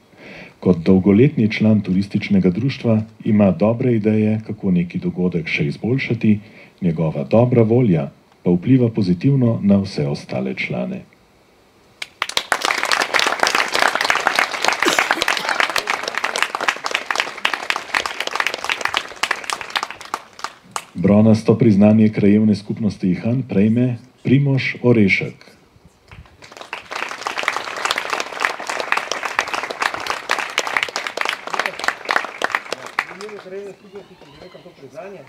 Kot dolgoletni član turističnega društva ima dobre ideje, kako neki dogodek še izboljšati, njegova dobra volja pa vpliva pozitivno na vse ostale člane. Bronasto priznanje krajevne skupnosti Ihan prejme Primož Orešek. krajevne skupnosti, ki nekam to priznanje,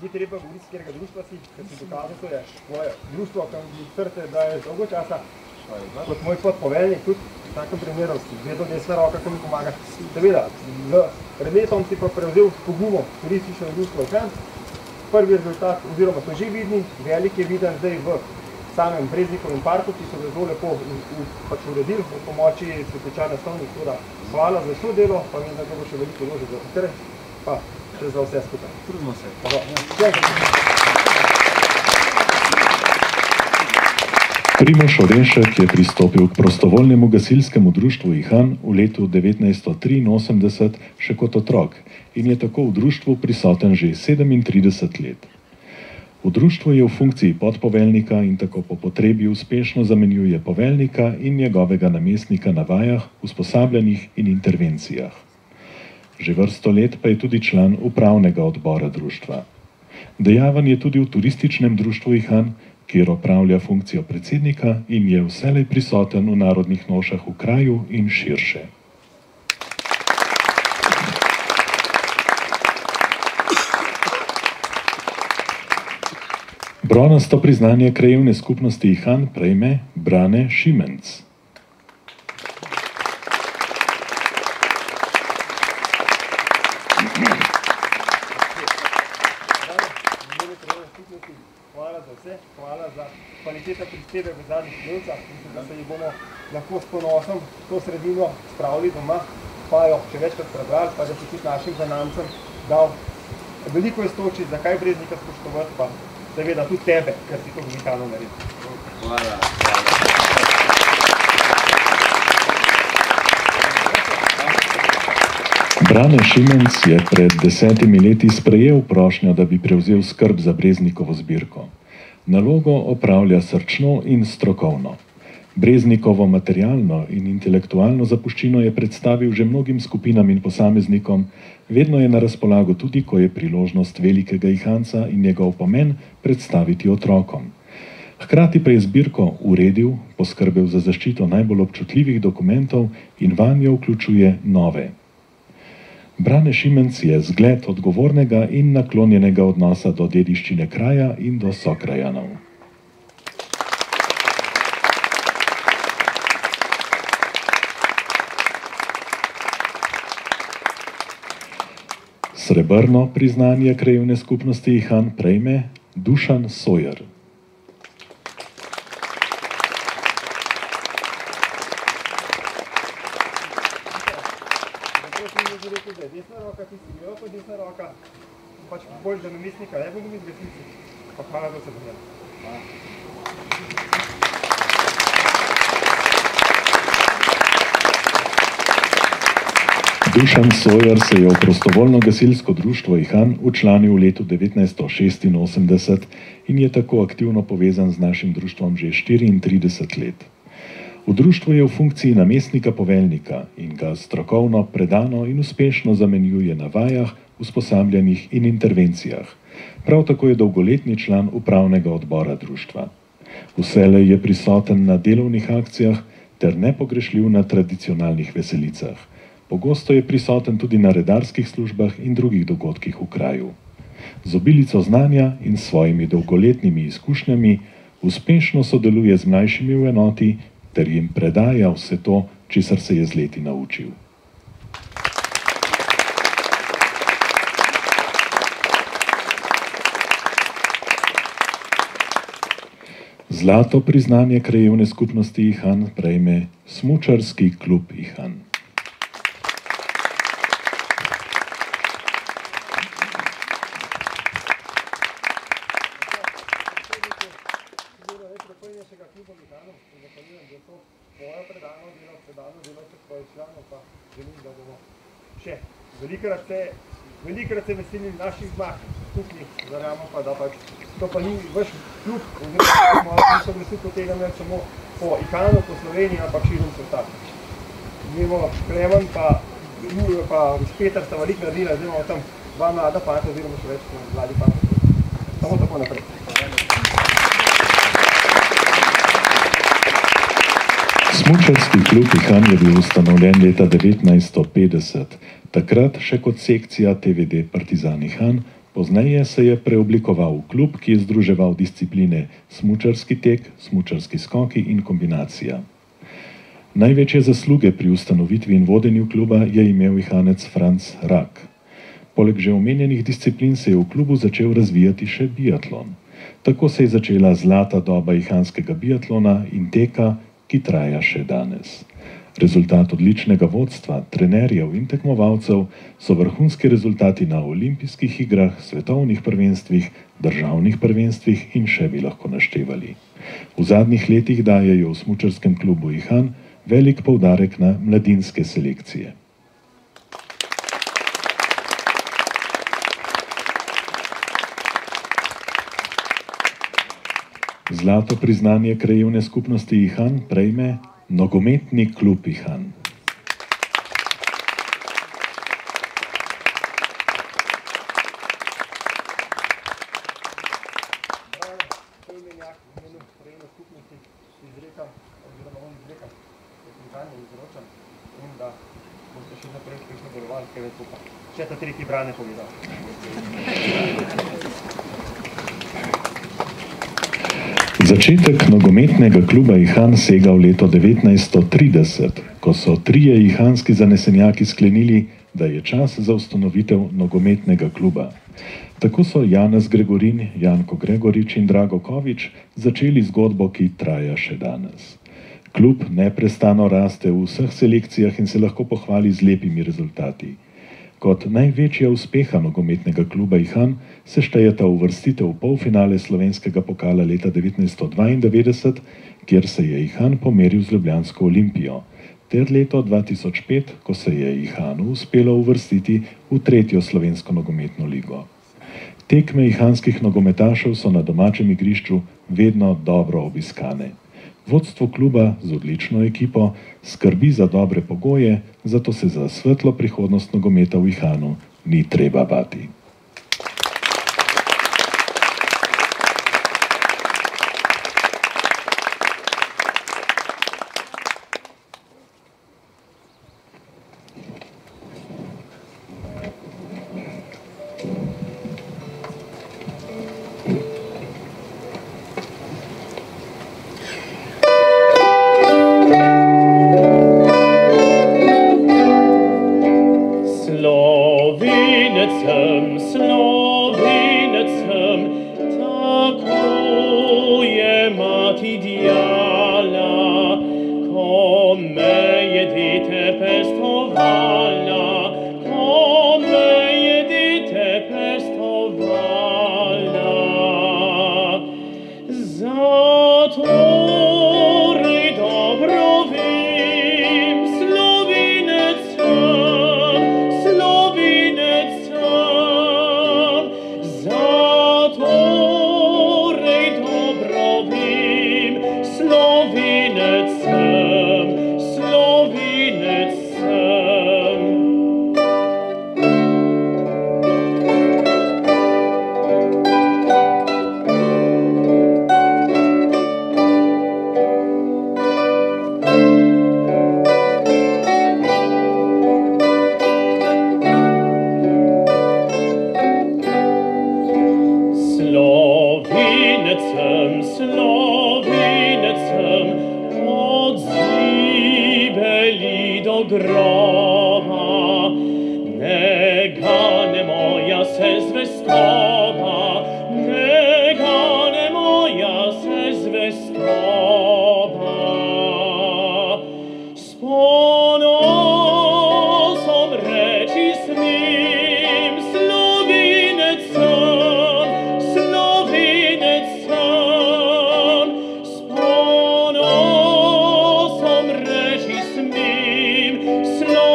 ni treba govoriti, s katerega društva si, ker si dokazal, to je tvoje društvo, kam mi srce daje dolgo časa, kot moj podpoveljnik, tudi v takem primeru si vedno desna roka, ko mi pomaga. Seveda, pred letom si pa prevzel pogumo turistično društvo Ihan. Prvi rezultat, oziroma so že vidni, velik je viden zdaj v samem Breznikovem parku, ki so ga zelo lepo uredili v pomoči Cvetličarne Stovnik. Hvala za vso delo, pa vem, da bo še veliko ložil za vse, pa še za vse skupaj. Trudimo se. Primož Orenšek je pristopil k prostovoljnemu gasilskemu društvu Ihan v letu 1983 še kot otrok in je tako v društvu prisoten že 37 let. V društvu je v funkciji podpoveljnika in tako po potrebi uspešno zamenjuje poveljnika in njegovega namestnika na vajah, usposabljanjih in intervencijah. Že vrsto let pa je tudi član upravnega odbora društva. Dejaven je tudi v turističnem društvu Ihan, kjer opravlja funkcijo predsednika in je vselej prisoten v narodnih nošah v kraju in širše. Bronasto priznanje krajevne skupnosti Ihan prejme Brane Šimenc. Hvala za vse, hvala za kvaliteta prispevek v zadnjih delcah. Mislim, da se jih bomo lahko s ponosom to sredino spravili doma, pa jo še večkrat prebrali, pa da si tudi našim zanamcem dal veliko iztočiti, zakaj Breznika spoštovati, pa seveda tudi tebe, ker si to unikalno naredil. Hvala. Brane Šimenc je pred 10 leti sprejel prošnjo, da bi prevzel skrb za Breznikovo zbirko. Nalogo opravlja srčno in strokovno. Breznikovo materialno in intelektualno zapuščino je predstavil že mnogim skupinam in posameznikom, vedno je na razpolago tudi, ko je priložnost velikega Ihanca in njegov pomen predstaviti otrokom. Hkrati pa je zbirko uredil, poskrbel za zaščito najbolj občutljivih dokumentov in vanjo vključuje nove. Brane Šimenc je zgled odgovornega in naklonjenega odnosa do dediščine kraja in do sokrajanov. Srebrno priznanje krajevne skupnosti Ihan prejme Dušan Sojer. Desna roka, ti si bila pa desna roka, pač bolj za namestnika, ne bomo mi zgasnici, pa hvala za vse dobro. Dušan Sojer se je v prostovoljno gasilsko društvo Ihan včlanil v letu 1986 in je tako aktivno povezan z našim društvom že 34 let. V društvu je v funkciji namestnika poveljnika in ga strokovno, predano in uspešno zamenjuje na vajah, usposabljanjih in intervencijah. Prav tako je dolgoletni član upravnega odbora društva. Vselej je prisoten na delovnih akcijah ter nepogrešljiv na tradicionalnih veselicah. Pogosto je prisoten tudi na redarskih službah in drugih dogodkih v kraju. Z obilico znanja in svojimi dolgoletnimi izkušnjami uspešno sodeluje z mlajšimi v enoti ter jim predaja vse to, česar se je z leti naučil. Zlato priznanje krajevne skupnosti Ihan prejme Smučarski klub Ihan. Velikrat se veselim naših zmag, tukaj verjamem pa, da pač to pa ni vaš klub, oziroma nisem vesel po tega ne samo po Ihanu, po Sloveniji, ampak širom sveta. Imamo Klemen pa Peter sta veliko naredila, zdaj imamo tam dva mlada fanta, oziroma še več mladi fanta. Samo tako naprej. Smučarski klub Ihan je bil ustanovljen leta 1950, takrat še kot sekcija TVD Partizan Ihan, pozneje se je preoblikoval v klub, ki je združeval discipline smučarski tek, smučarski skoki in kombinacija. Največje zasluge pri ustanovitvi in vodenju kluba je imel Ihanec Franc Rak. Poleg že omenjenih disciplin se je v klubu začel razvijati še biatlon. Tako se je začela zlata doba ihanskega biatlona in teka, ki traja še danes. Rezultat odličnega vodstva, trenerjev in tekmovalcev so vrhunski rezultati na olimpijskih igrah, svetovnih prvenstvih, državnih prvenstvih in še bi lahko naštevali. V zadnjih letih dajejo v smučarskem klubu Ihan velik poudarek na mladinske selekcije. Zlato priznanje krajevne skupnosti Ihan prejme nogometni klub Ihan. Začetek nogometnega kluba Ihan sega v leto 1930, ko so trije ihanski zanesenjaki sklenili, da je čas za ustanovitev nogometnega kluba. Tako so Janez Gregorin, Janko Gregorič in Drago Kovič začeli zgodbo, ki traja še danes. Klub neprestano raste v vseh selekcijah in se lahko pohvali z lepimi rezultati. Kot največja uspeha nogometnega kluba Ihan se štejeta uvrstitev v polfinale slovenskega pokala leta 1992, kjer se je Ihan pomeril z ljubljansko Olimpijo, ter leto 2005, ko se je Ihanu uspelo uvrstiti v tretjo slovensko nogometno ligo. Tekme ihanskih nogometašev so na domačem igrišču vedno dobro obiskane. Vodstvo kluba z odlično ekipo skrbi za dobre pogoje, zato se za svetlo prihodnost nogometa v Ihanu ni treba bati. Slow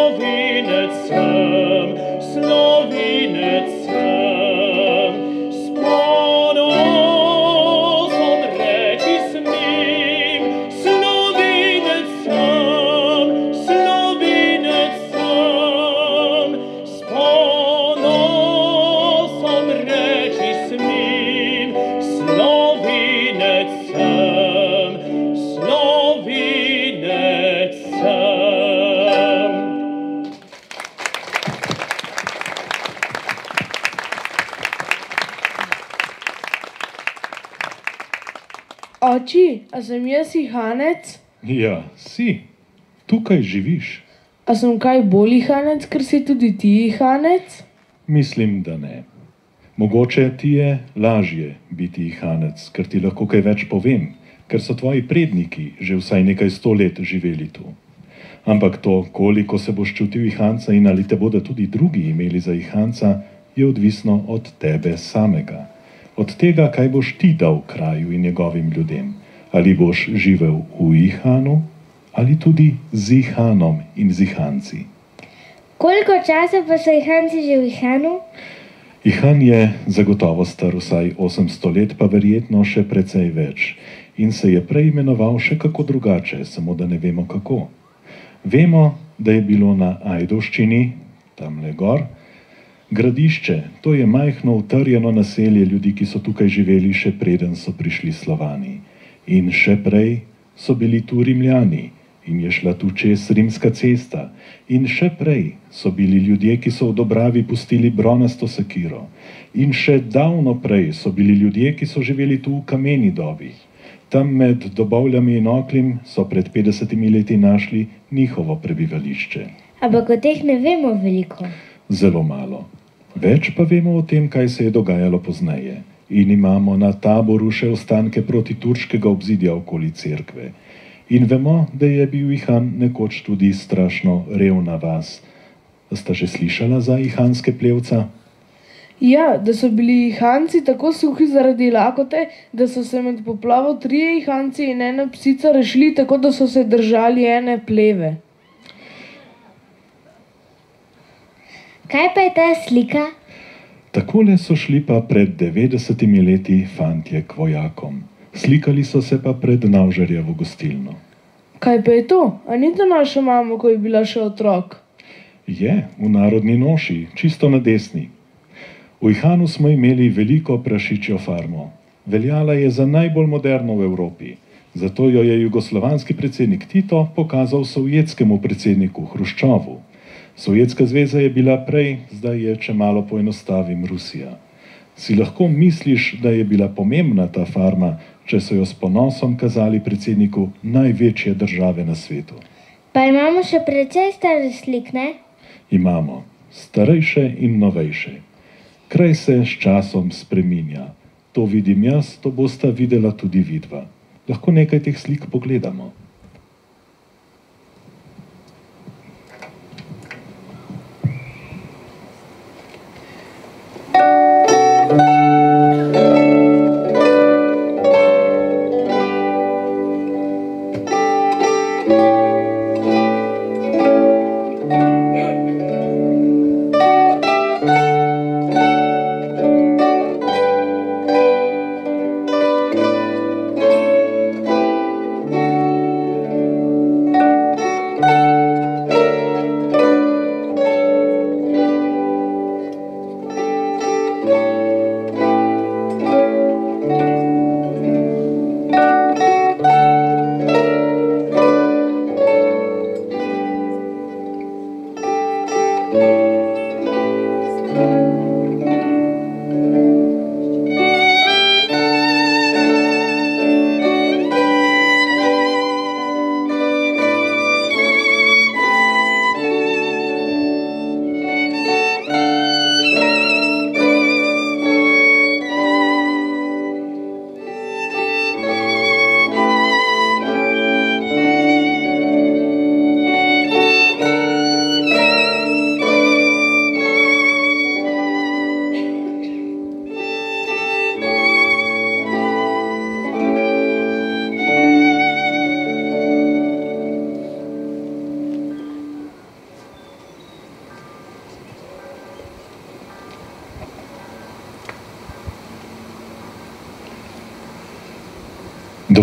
Oči, a sem jaz Ihanec? Ja, si. Tukaj živiš. A sem kaj bolj Ihanec, ker si tudi ti Ihanec? Mislim, da ne. Mogoče ti je lažje biti Ihanec, ker ti lahko kaj več povem, ker so tvoji predniki že vsaj nekaj 100 let živeli tu. Ampak to, koliko se boš čutil Ihanca in ali te bodo tudi drugi imeli za Ihanca, je odvisno od tebe samega. Od tega, kaj boš ti dal kraju in njegovim ljudem. Ali boš živel v Ihanu, ali tudi z Ihanom in z Ihanci. Koliko časa pa so Ihanci že v Ihanu? Ihan je zagotovo star vsaj 800 let, pa verjetno še precej več. In se je prej imenoval še kako drugače, samo da ne vemo kako. Vemo, da je bilo na Ajdovščini, tamle gor, gradišče, to je majhno utrjeno naselje ljudi, ki so tukaj živeli še preden so prišli Slovani. In še prej so bili tu Rimljani in je šla tu čez rimska cesta. In še prej so bili ljudje, ki so v Dobravi pustili bronasto sekiro. In še davno prej so bili ljudje, ki so živeli tu v kameni dobi. Tam med Dobovljami in Oklim so pred 50 leti našli njihovo prebivališče. Ampak o teh ne vemo veliko. Zelo malo. Več pa vemo o tem, kaj se je dogajalo pozneje. In imamo na Taboru še ostanke protiturškega obzidja okoli cerkve. In vemo, da je bil Ihan nekoč tudi strašno revna vas. Sta že slišala za ihanske plevca? Ja, da so bili Ihanci tako suhi zaradi lakote, da so se med poplavo 3 Ihanci in 1 psica rešili tako, da so se držali ene pleve. Kaj pa je ta slika? Takole so šli pa pred 90 leti fantje k vojakom. Slikali so se pa pred Navžarjevo gostilno. Kaj pa je to? A ni to naša mama, ko je bila še otrok? Je, v narodni noši, čisto na desni. V Ihanu smo imeli veliko prašičjo farmo. Veljala je za najbolj moderno v Evropi. Zato jo je jugoslovanski predsednik Tito pokazal sovjetskemu predsedniku Hruščovu. Sovjetska zveza je bila prej, zdaj je, če malo poenostavim, Rusija. Si lahko misliš, da je bila pomembna ta farma, če so jo s ponosom kazali predsedniku največje države na svetu? Pa imamo še precej stare slik, ne? Imamo. Starejše in novejše. Kraj se s časom spreminja. To vidim jaz, to bosta videla tudi vidva. Lahko nekaj teh slik pogledamo.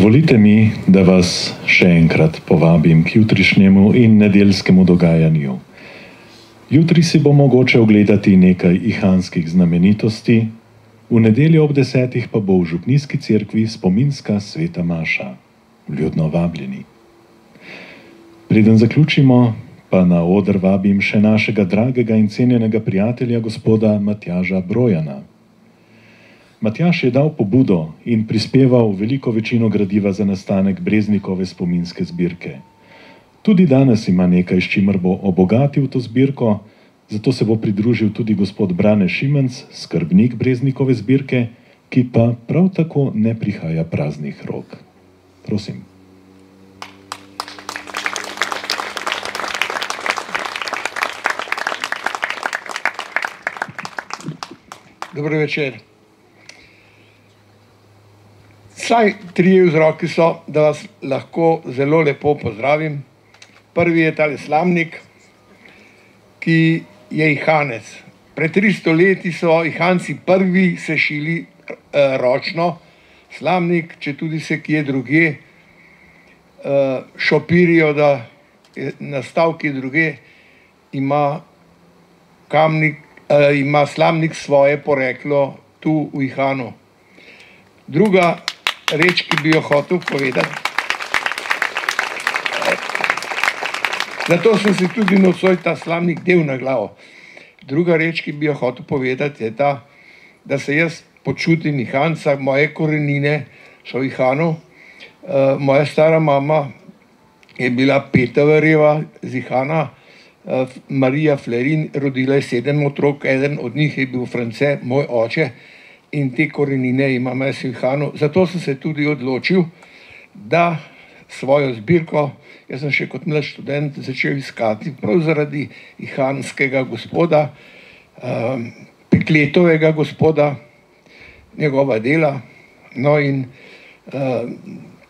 Dovolite mi, da vas še enkrat povabim k jutrišnjemu in nedeljskemu dogajanju. Jutri si bo mogoče ogledati nekaj ihanskih znamenitosti, v nedeljo ob 10. pa bo v župnijski cerkvi spominska sveta maša. Vljudno vabljeni. Preden zaključimo, pa na oder vabim še našega dragega in cenjenega prijatelja, gospoda Matjaža Brojana. Matjaž je dal pobudo in prispeval veliko večino gradiva za nastanek Breznikove spominske zbirke. Tudi danes ima nekaj, s čimer bo obogatil to zbirko, zato se bo pridružil tudi gospod Brane Šimenc, skrbnik Breznikove zbirke, ki pa prav tako ne prihaja praznih rok. Prosim. Dobro večer. Vsaj 3 vzroki so, da vas lahko zelo lepo pozdravim. Prvi je tale slamnik, ki je ihanec. Pred 300 leti so ihanci prvi sešili ročno slamnik, če tudi se kje drugje šopirijo, da je nastal kje drugje, ima slamnik svoje poreklo tu v Ihanu. Druga reč, ki bi jo hotel povedati, zato sem si tudi nocoj ta slamnik del na glavo. Druga reč, ki bi jo hotel povedati, je ta, da se jaz počutim Ihanca, moje korenine so v Ihanu. Moja stara mama je bila Petavarjeva z Ihana, Marija Flerin, rodila je 7 otrok, eden od njih je bil France, moj oče, in te korenine imam jaz v Ihanu. Zato sem se tudi odločil, da svojo zbirko, jaz sem še kot mlad študent začel iskati prav zaradi ihanskega gospoda, Pekletovega gospoda, njegova dela, no in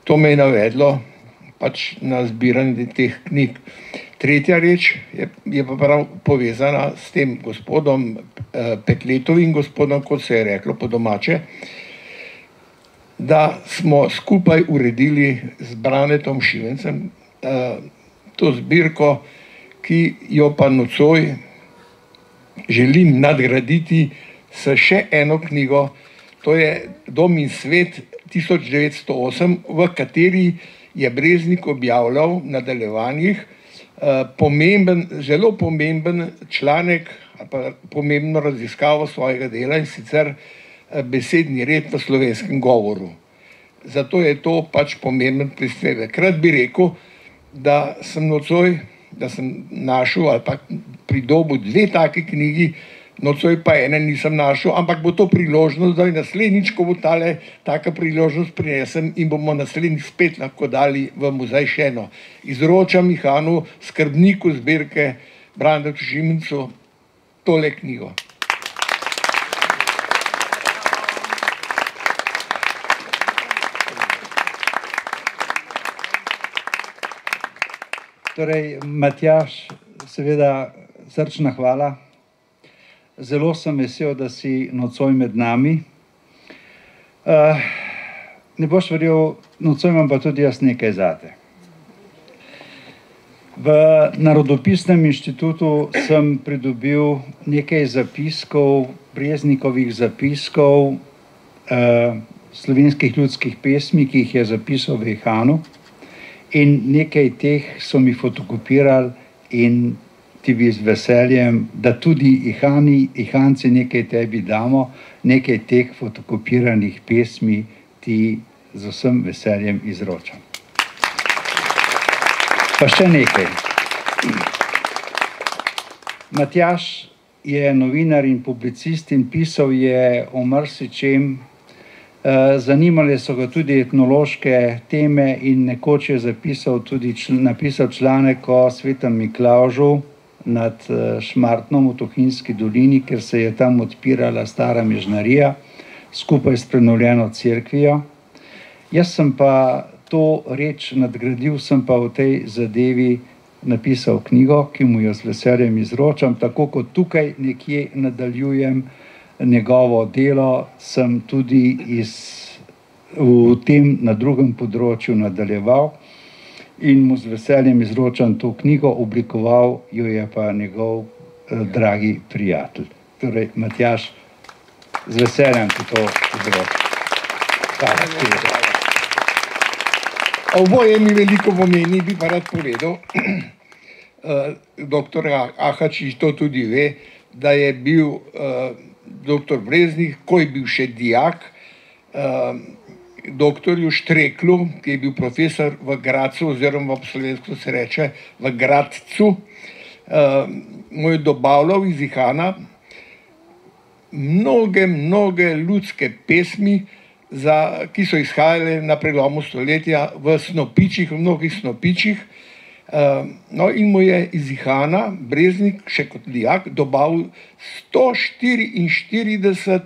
to me je navedlo pač na zbiranje teh knjig. Tretja reč je pa prav povezana s tem gospodom, Pekletovim gospodom, kot se je reklo po domače, da smo skupaj uredili z Branetom Šimencem to zbirko, ki jo pa nocoj želim nadgraditi s še eno knjigo, to je Dom in svet 1908, v kateri je Breznik objavljal v nadaljevanjih zelo pomemben članek ali pa pomembno raziskavo svojega dela, in sicer besedni red v slovenskem govoru. Zato je to pač pomemben prispevek. Rad bi rekel, da sem nocoj, da sem našel ali pa pridobil 2 taki knjigi, nocoj pa ene nisem našel, ampak bo to priložnost, da je naslednjič, ko bo taka priložnost prinesem in bomo naslednjič spet lahko dali v muzej še eno. Izročam Ihanu, skrbniku zbirke Branetu Šimencu, tole knjigo. Torej, Matjaž, seveda srčna hvala. Zelo sem vesel, da si nocoj med nami. Ne boš verjel, nocoj imam pa tudi jaz nekaj zate. V Narodopisnem inštitutu sem pridobil nekaj zapiskov, Breznikovih zapiskov, slovenskih ljudskih pesmi, ki jih je zapisal v Ihanu, in nekaj teh so mi fotokopirali in ti bi z veseljem, da tudi Ihanci nekaj tebi damo, nekaj teh fotokopiranih pesmi ti z vsem veseljem izročam. Pa še nekaj. Matjaž je novinar in publicist in pisal je o marsičem. Zanimale so ga tudi etnološke teme in nekoč je napisal članek o Svetem Miklavžu nad Šmartnom v Tuhinjski dolini, ker se je tam odpirala stara mežnarija skupaj s prenovljeno cerkvijo. Jaz sem pa to reč nadgradil, sem pa v tej zadevi napisal knjigo, ki mu jo z veseljem izročam, tako kot tukaj nekje nadaljujem njegovo delo, sem tudi v tem na drugem področju nadaljeval in mu z veseljem izročam to knjigo, oblikoval jo je pa njegov dragi prijatelj. Torej, Matjaž, z veseljem ti to izročam. Hvala. Oboje mi veliko pomeni, bi pa rad povedal, doktor Ahačič to tudi ve, da je bil dr. Breznik, ko je bil še dijak, doktorju Štreklu, ki je bil profesor v Gradcu, oziroma po slovensko se reče v Gradcu, mu je dobavljal iz Ihana mnoge ljudske pesmi, ki so izhajale na prelomu stoletja v snopičih, v mnogih snopičih. No, in mu je iz Ihana Breznik, še kot dijak, dobavil 144,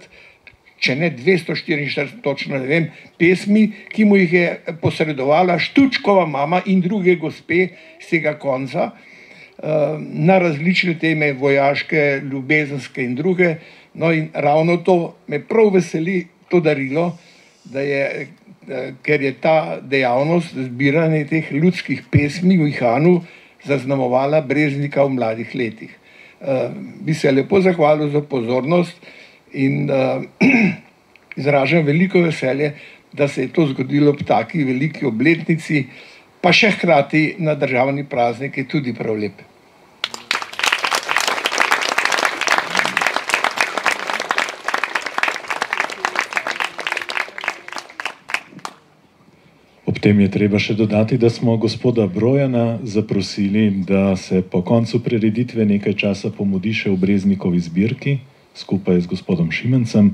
če ne 244, točno ne vem, pesmi, ki mu jih je posredovala Štučkova mama in druge gospe z tega konca, na različne teme, vojaške, ljubezenske in druge. No, in ravno to me prav veseli, to darilo, ker je ta dejavnost zbiranja teh ljudskih pesmi v Ihanu zaznamovala Breznika v mladih letih. Bi se lepo zahvalil za pozornost in izražam veliko veselje, da se je to zgodilo ob taki veliki obletnici, pa še hkrati na državni praznik je tudi prav lep. Ob tem je treba še dodati, da smo gospoda Brojana zaprosili, da se po koncu prireditve nekaj časa pomudi še v Breznikovi zbirki, skupaj z gospodom Šimencem,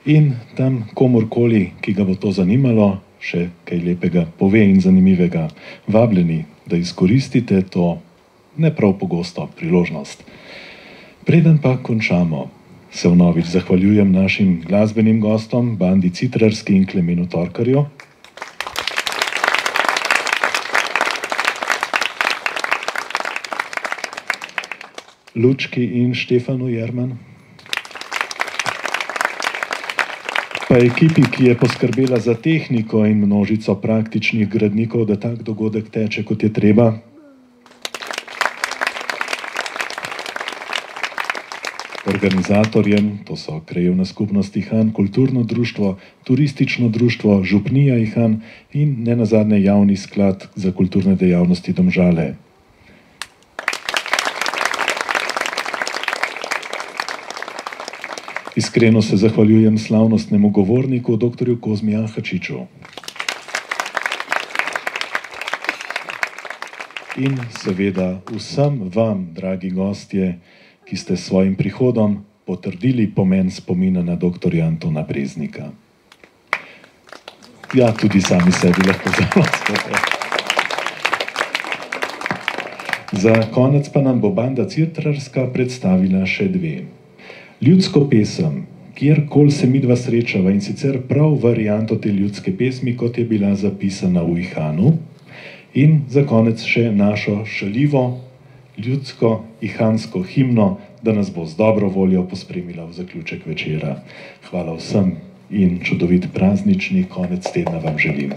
in tam komorkoli, ki ga bo to zanimalo, še kaj lepega pove in zanimivega. Vabljeni, da izkoristite to ne prav pogosto priložnost. Preden pa končamo, se vnovič zahvaljujem našim glasbenim gostom, Bandi Citrarski in Klemenu Torkarju. Lučki in Štefanu Jerman. Pa ekipi, ki je poskrbela za tehniko in množico praktičnih gradnikov, da tak dogodek teče, kot je treba. Organizatorjem, to so Krajevna skupnost Ihan, Kulturno društvo, Turistično društvo, Župnija Ihan in nenazadnje Javni sklad za kulturne dejavnosti Domžale. Iskreno se zahvaljujem slavnostnemu govorniku, dr. Kozmi Ahačiču. In seveda vsem vam, dragi gostje, ki ste s svojim prihodom potrdili pomen spomina na dr. Antona Breznika. Ja, tudi sami sebi lahko zahvaljujem. Za konec pa nam bo Banda Citrarska predstavila še dve. Ljudsko pesem, kjerkoli se midva srečava, in sicer prav varianto te ljudske pesmi, kot je bila zapisana v Ihanu. In za konec še našo šaljivo, ljudsko, ihansko himno, da nas bo z dobro voljo pospremila v zaključek večera. Hvala vsem in čudovit praznični konec tedna vam želim.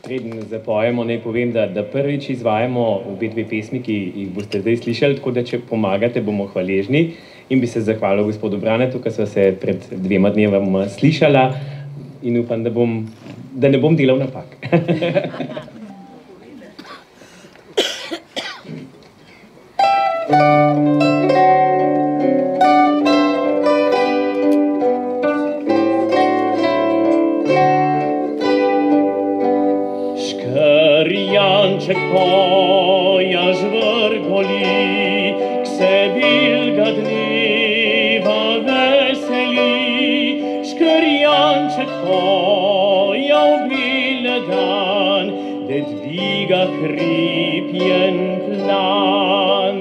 Preden zapojemo, naj povem, da prvič izvajamo obe dve pesmi, ki jih boste zdaj slišali, tako da če pomagate, bomo hvaležni. In bi se zahvalil gospodu Branetu, ki sva se pred 2 dnevoma slišala in upam, da ne bom delal napak. Škrjanček poja žvrgoli, k sebi ga dneva veseli. Škrjanček poja obil dan, da dviga hripjen plan.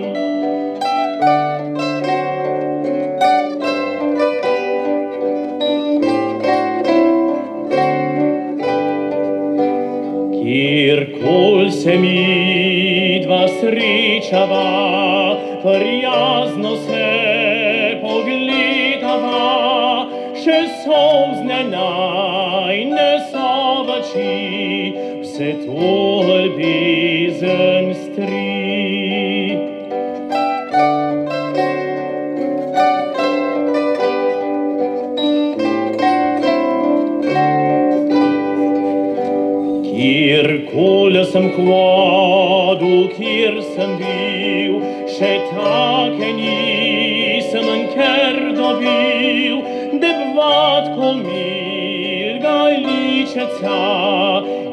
Kjerkoli se midva srečava, prijazno se pogledava, še solzne najne so v oči, vse to ljubezen stri. Kjerkoli sem hodil gradu, kjer sem bil, še take nisem nikjer dobil, debvatko milga ličeca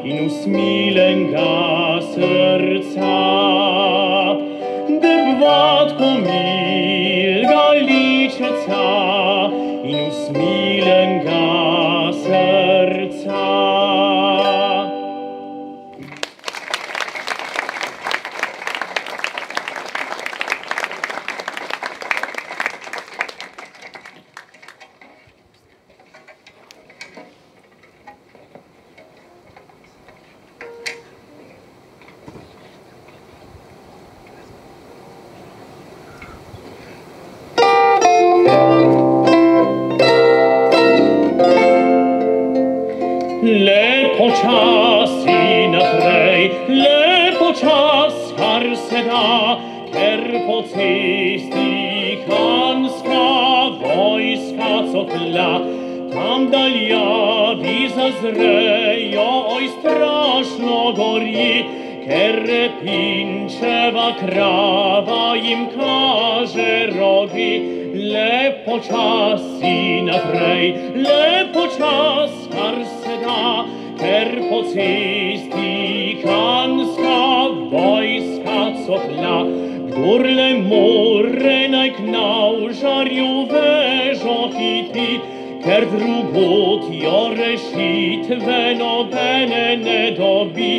in usmilenega srca. Debvatko milga ličeca in usmilenega srca. Le počasi naprej, le počas, kar se da, ker po cesti hanska vojska cokla. Tam daljavi zazrejo, oj strašno gori, ker repinčeva krava jim kaže rogi. Le počasi naprej, le počas, kar se da, ker po cesti hanska vojska cokla. Kdor le more, naj k navžarju vežo hiti, ker drugot jo rešitve nobene ne dobi.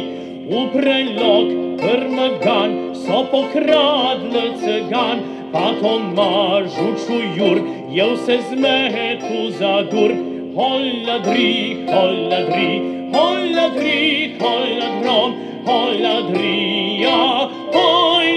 V prelog Prmagan so pokradli cigan, pa Tomažu Čujur je vse zmetu zadur. Holadri, holadri, holadri, holadrom, holadrija, holadrom.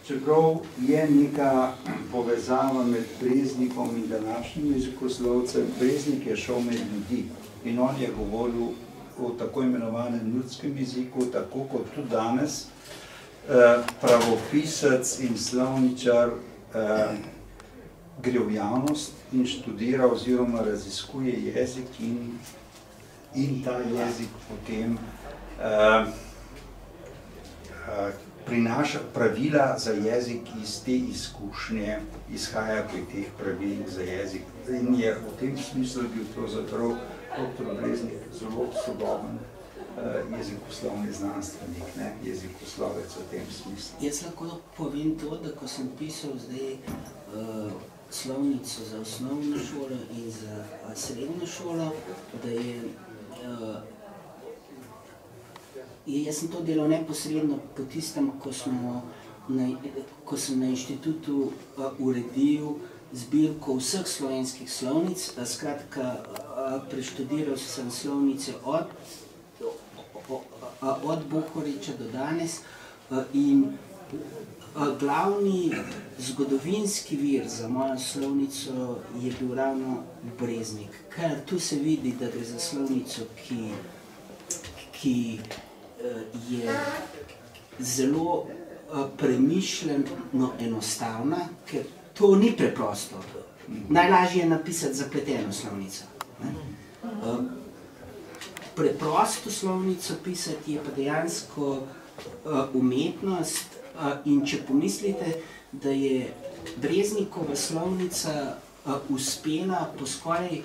Čeprav je neka povezava med Breznikom in današnjim jezikoslovcem, Breznik je šel med ljudi in on je govoril o tako imenovanem ljudskem jeziku, tako kot tudi danes pravopisec in slovničar gre v javnost in študira oziroma raziskuje jezik in ta jezik potem prinaša pravila za jezik iz te izkušnje, izhaja pri teh pravilih za jezik. In je v tem smislu bil pravzaprav dr. Breznik zelo sodoben jezikoslovni znanstvenik, jezikoslovec v tem smislu. Jaz lahko povem to, da ko sem pisal zdaj slovnico za osnovno šolo in za srednjo šolo, da jaz sem to delal neposredno po tistem, ko sem na inštitutu uredil zbirko vseh slovenskih slovnic. Skratka, preštudiral sem slovnice od Bohoriča do danes in glavni zgodovinski vir za mojo slovnico je bil ravno Breznik. Ker tu se vidi, da gre za slovnico, ki je zelo premišljeno enostavna, ker to ni preprosto. Najlažje je napisati zapleteno slovnico. Preprosto slovnico pisati je pa dejansko umetnost in če pomislite, da je Breznikova slovnica uspela po skoraj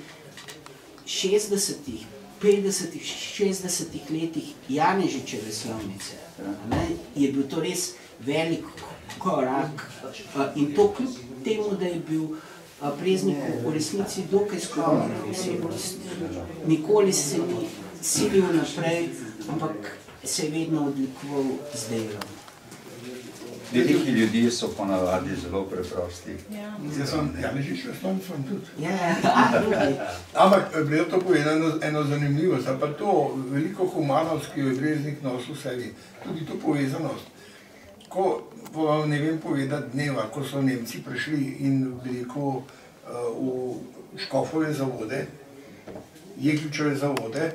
60-ih, 50-ih, 60-ih letih Janežičeve slovnice, je bil to res velik korak in to kljub temu, da je bil Breznikov v resnici dokaj skromna osebnost. Nikoli se ni silil naprej, ampak se je vedno odlikoval z delom. Veliki ljudje so ponavadi zelo preprosti. Jaz sem Janežičev slovnico tudi. Ampak bi to povedal eno zanimivost, ali pa to veliko humanost, ki jo je Breznik nosil v sebi, tudi to povezanost. ko vam ne vem povedati dneva, ko so Nemci prišli in veliko v Škofove zavode, Jegličeve zavode,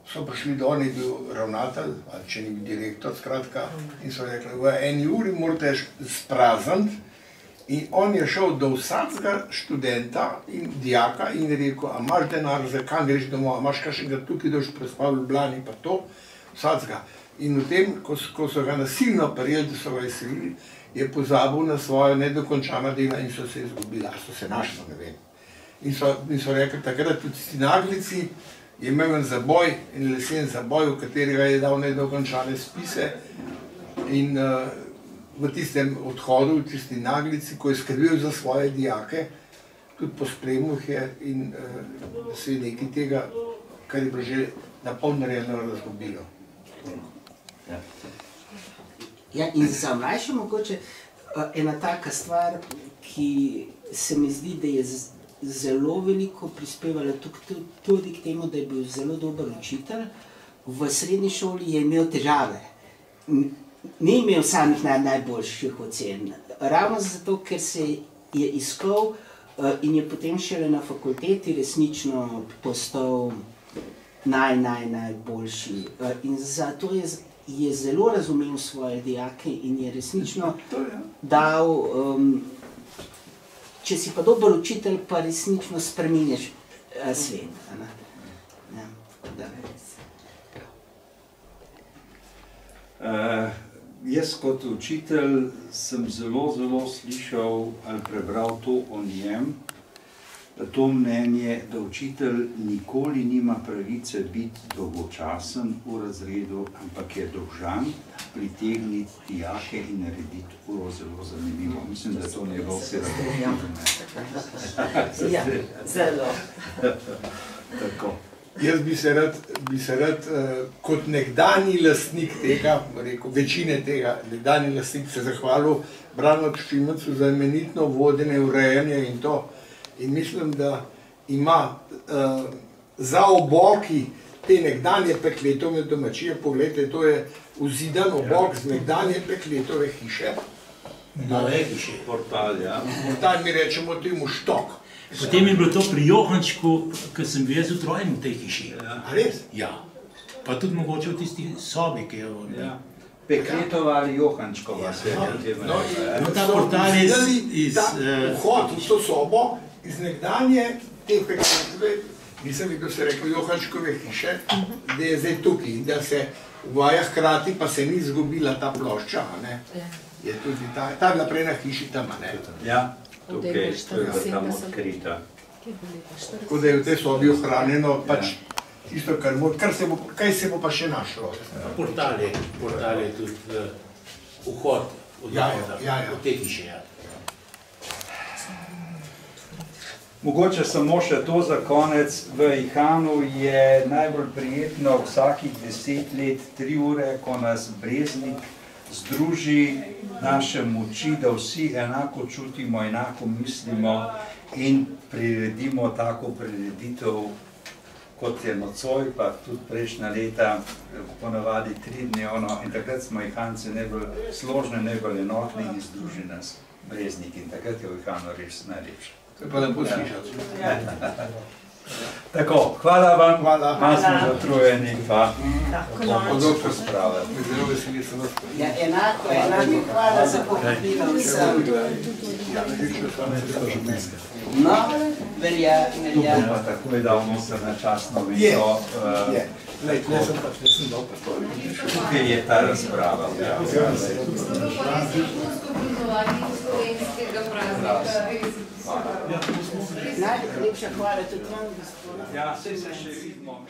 so prišli dol, je bil ravnatelj, ali če ni bil direktor, skratka, in so rekli, v 1 uri morate sprazniti. In on je šel do vsakega študenta in dijaka in rekel, a imaš denar, za kam greš domov, a imaš kakšnega tukaj, da boš prespal v Ljubljani, pa to, vsakega. In v tem, ko so ga nasilno prijeli, da so ga izselili, je pozabil na svojo nedokončana dela in so se izgubili, a so se našli, ne vem. In so rekli, takrat tudi ti naglici je imel en zaboj, en lesen zaboj, v katerega je dal nedokončane spise in v tistem odhodu, v tisti naglici, ko je skrbel za svoje dijake, tudi pospremil jih je in se je nekaj tega, kar je bilo že napol narejeno, razgubilo. Ja, in za mlajše mogoče ena taka stvar, ki se mi zdi, da je zelo veliko prispevala tudi k temu, da je bil zelo dober učitelj. V srednji šoli je imel težave. Ni imel samih najboljših ocen. Ravno zato, ker se je iskal in je potem šele na fakulteti resnično postal najboljši. In zato je zelo razumel svoje dijake in je resnično dal, če si pa dober učitelj, pa resnično spreminjaš svet. Jaz kot učitelj sem zelo slišal ali prebral to o njem, to mnenje, da učitelj nikoli nima pravice biti dolgočasen v razredu, ampak je dolžan pritegniti dijake in narediti uro zelo zanimivo. Mislim, da je to njegov Ja, zelo. Tako. Jaz bi se rad kot nekdanji lastnik tega, rekel, večine tega, nekdanji lastnik se zahvalil Branu Šimcu za imenitno vodenje, urejanje in to. In mislim, da ima za oboki te nekdanje Pekletove domačije, pogledajte, to je vzidan obok z nekdanje Pekletove hiše. Nove hiše. Portal, ja. Portal mi rečemo temu štok. Potem je bilo to pri Johančku, ko sem bil jaz utrojen v tej hiši. A res? Ja. Pa tudi mogoče v tisti sobi, ki je v... Pekletova ali Johančkova se je. No, ta portal je iz... Vhod v to sobo iz nekdanje te Pekletove, nisem videl, se rekel, Johančkove hiše, da je zdaj tukaj, da se uvaja hkrati, pa se ni izgubila ta plošča, ne? Je tudi ta je bila prej na hiši tam, ne? Ja. Tukaj, to je bila tam odkrita. Tako da je v tej sobi ohranjeno pač tisto, kaj se bo pa še našlo. Portal je tudi vhod od te hiše. Mogoče samo še to za konec. V Ihanu je najbolj prijetno vsakih 10 let, 3 ure, ko nas Breznik združi naše moči, da vsi enako čutimo, enako mislimo in priredimo tako prireditev, kot je nocoj, pa tudi prejšnja leta, ponavadi 3-dnevno, in takrat smo Ihanci najbolj složni, najbolj enotni in združi nas Breznik in takrat je v Ihanu res najlepše. To je pa lepo slišati. Tako, hvala vam, malo smo zatrujeni, pa podobno spravljati. Zelo veseli sem vas. Ja, enako, hvala za povabilo vsem. No, velja. Pa tako je dal noser na častno viso. Tukaj je ta razprava. Najlepša hvala tudi vam, gospod. Ja, saj se še vidimo.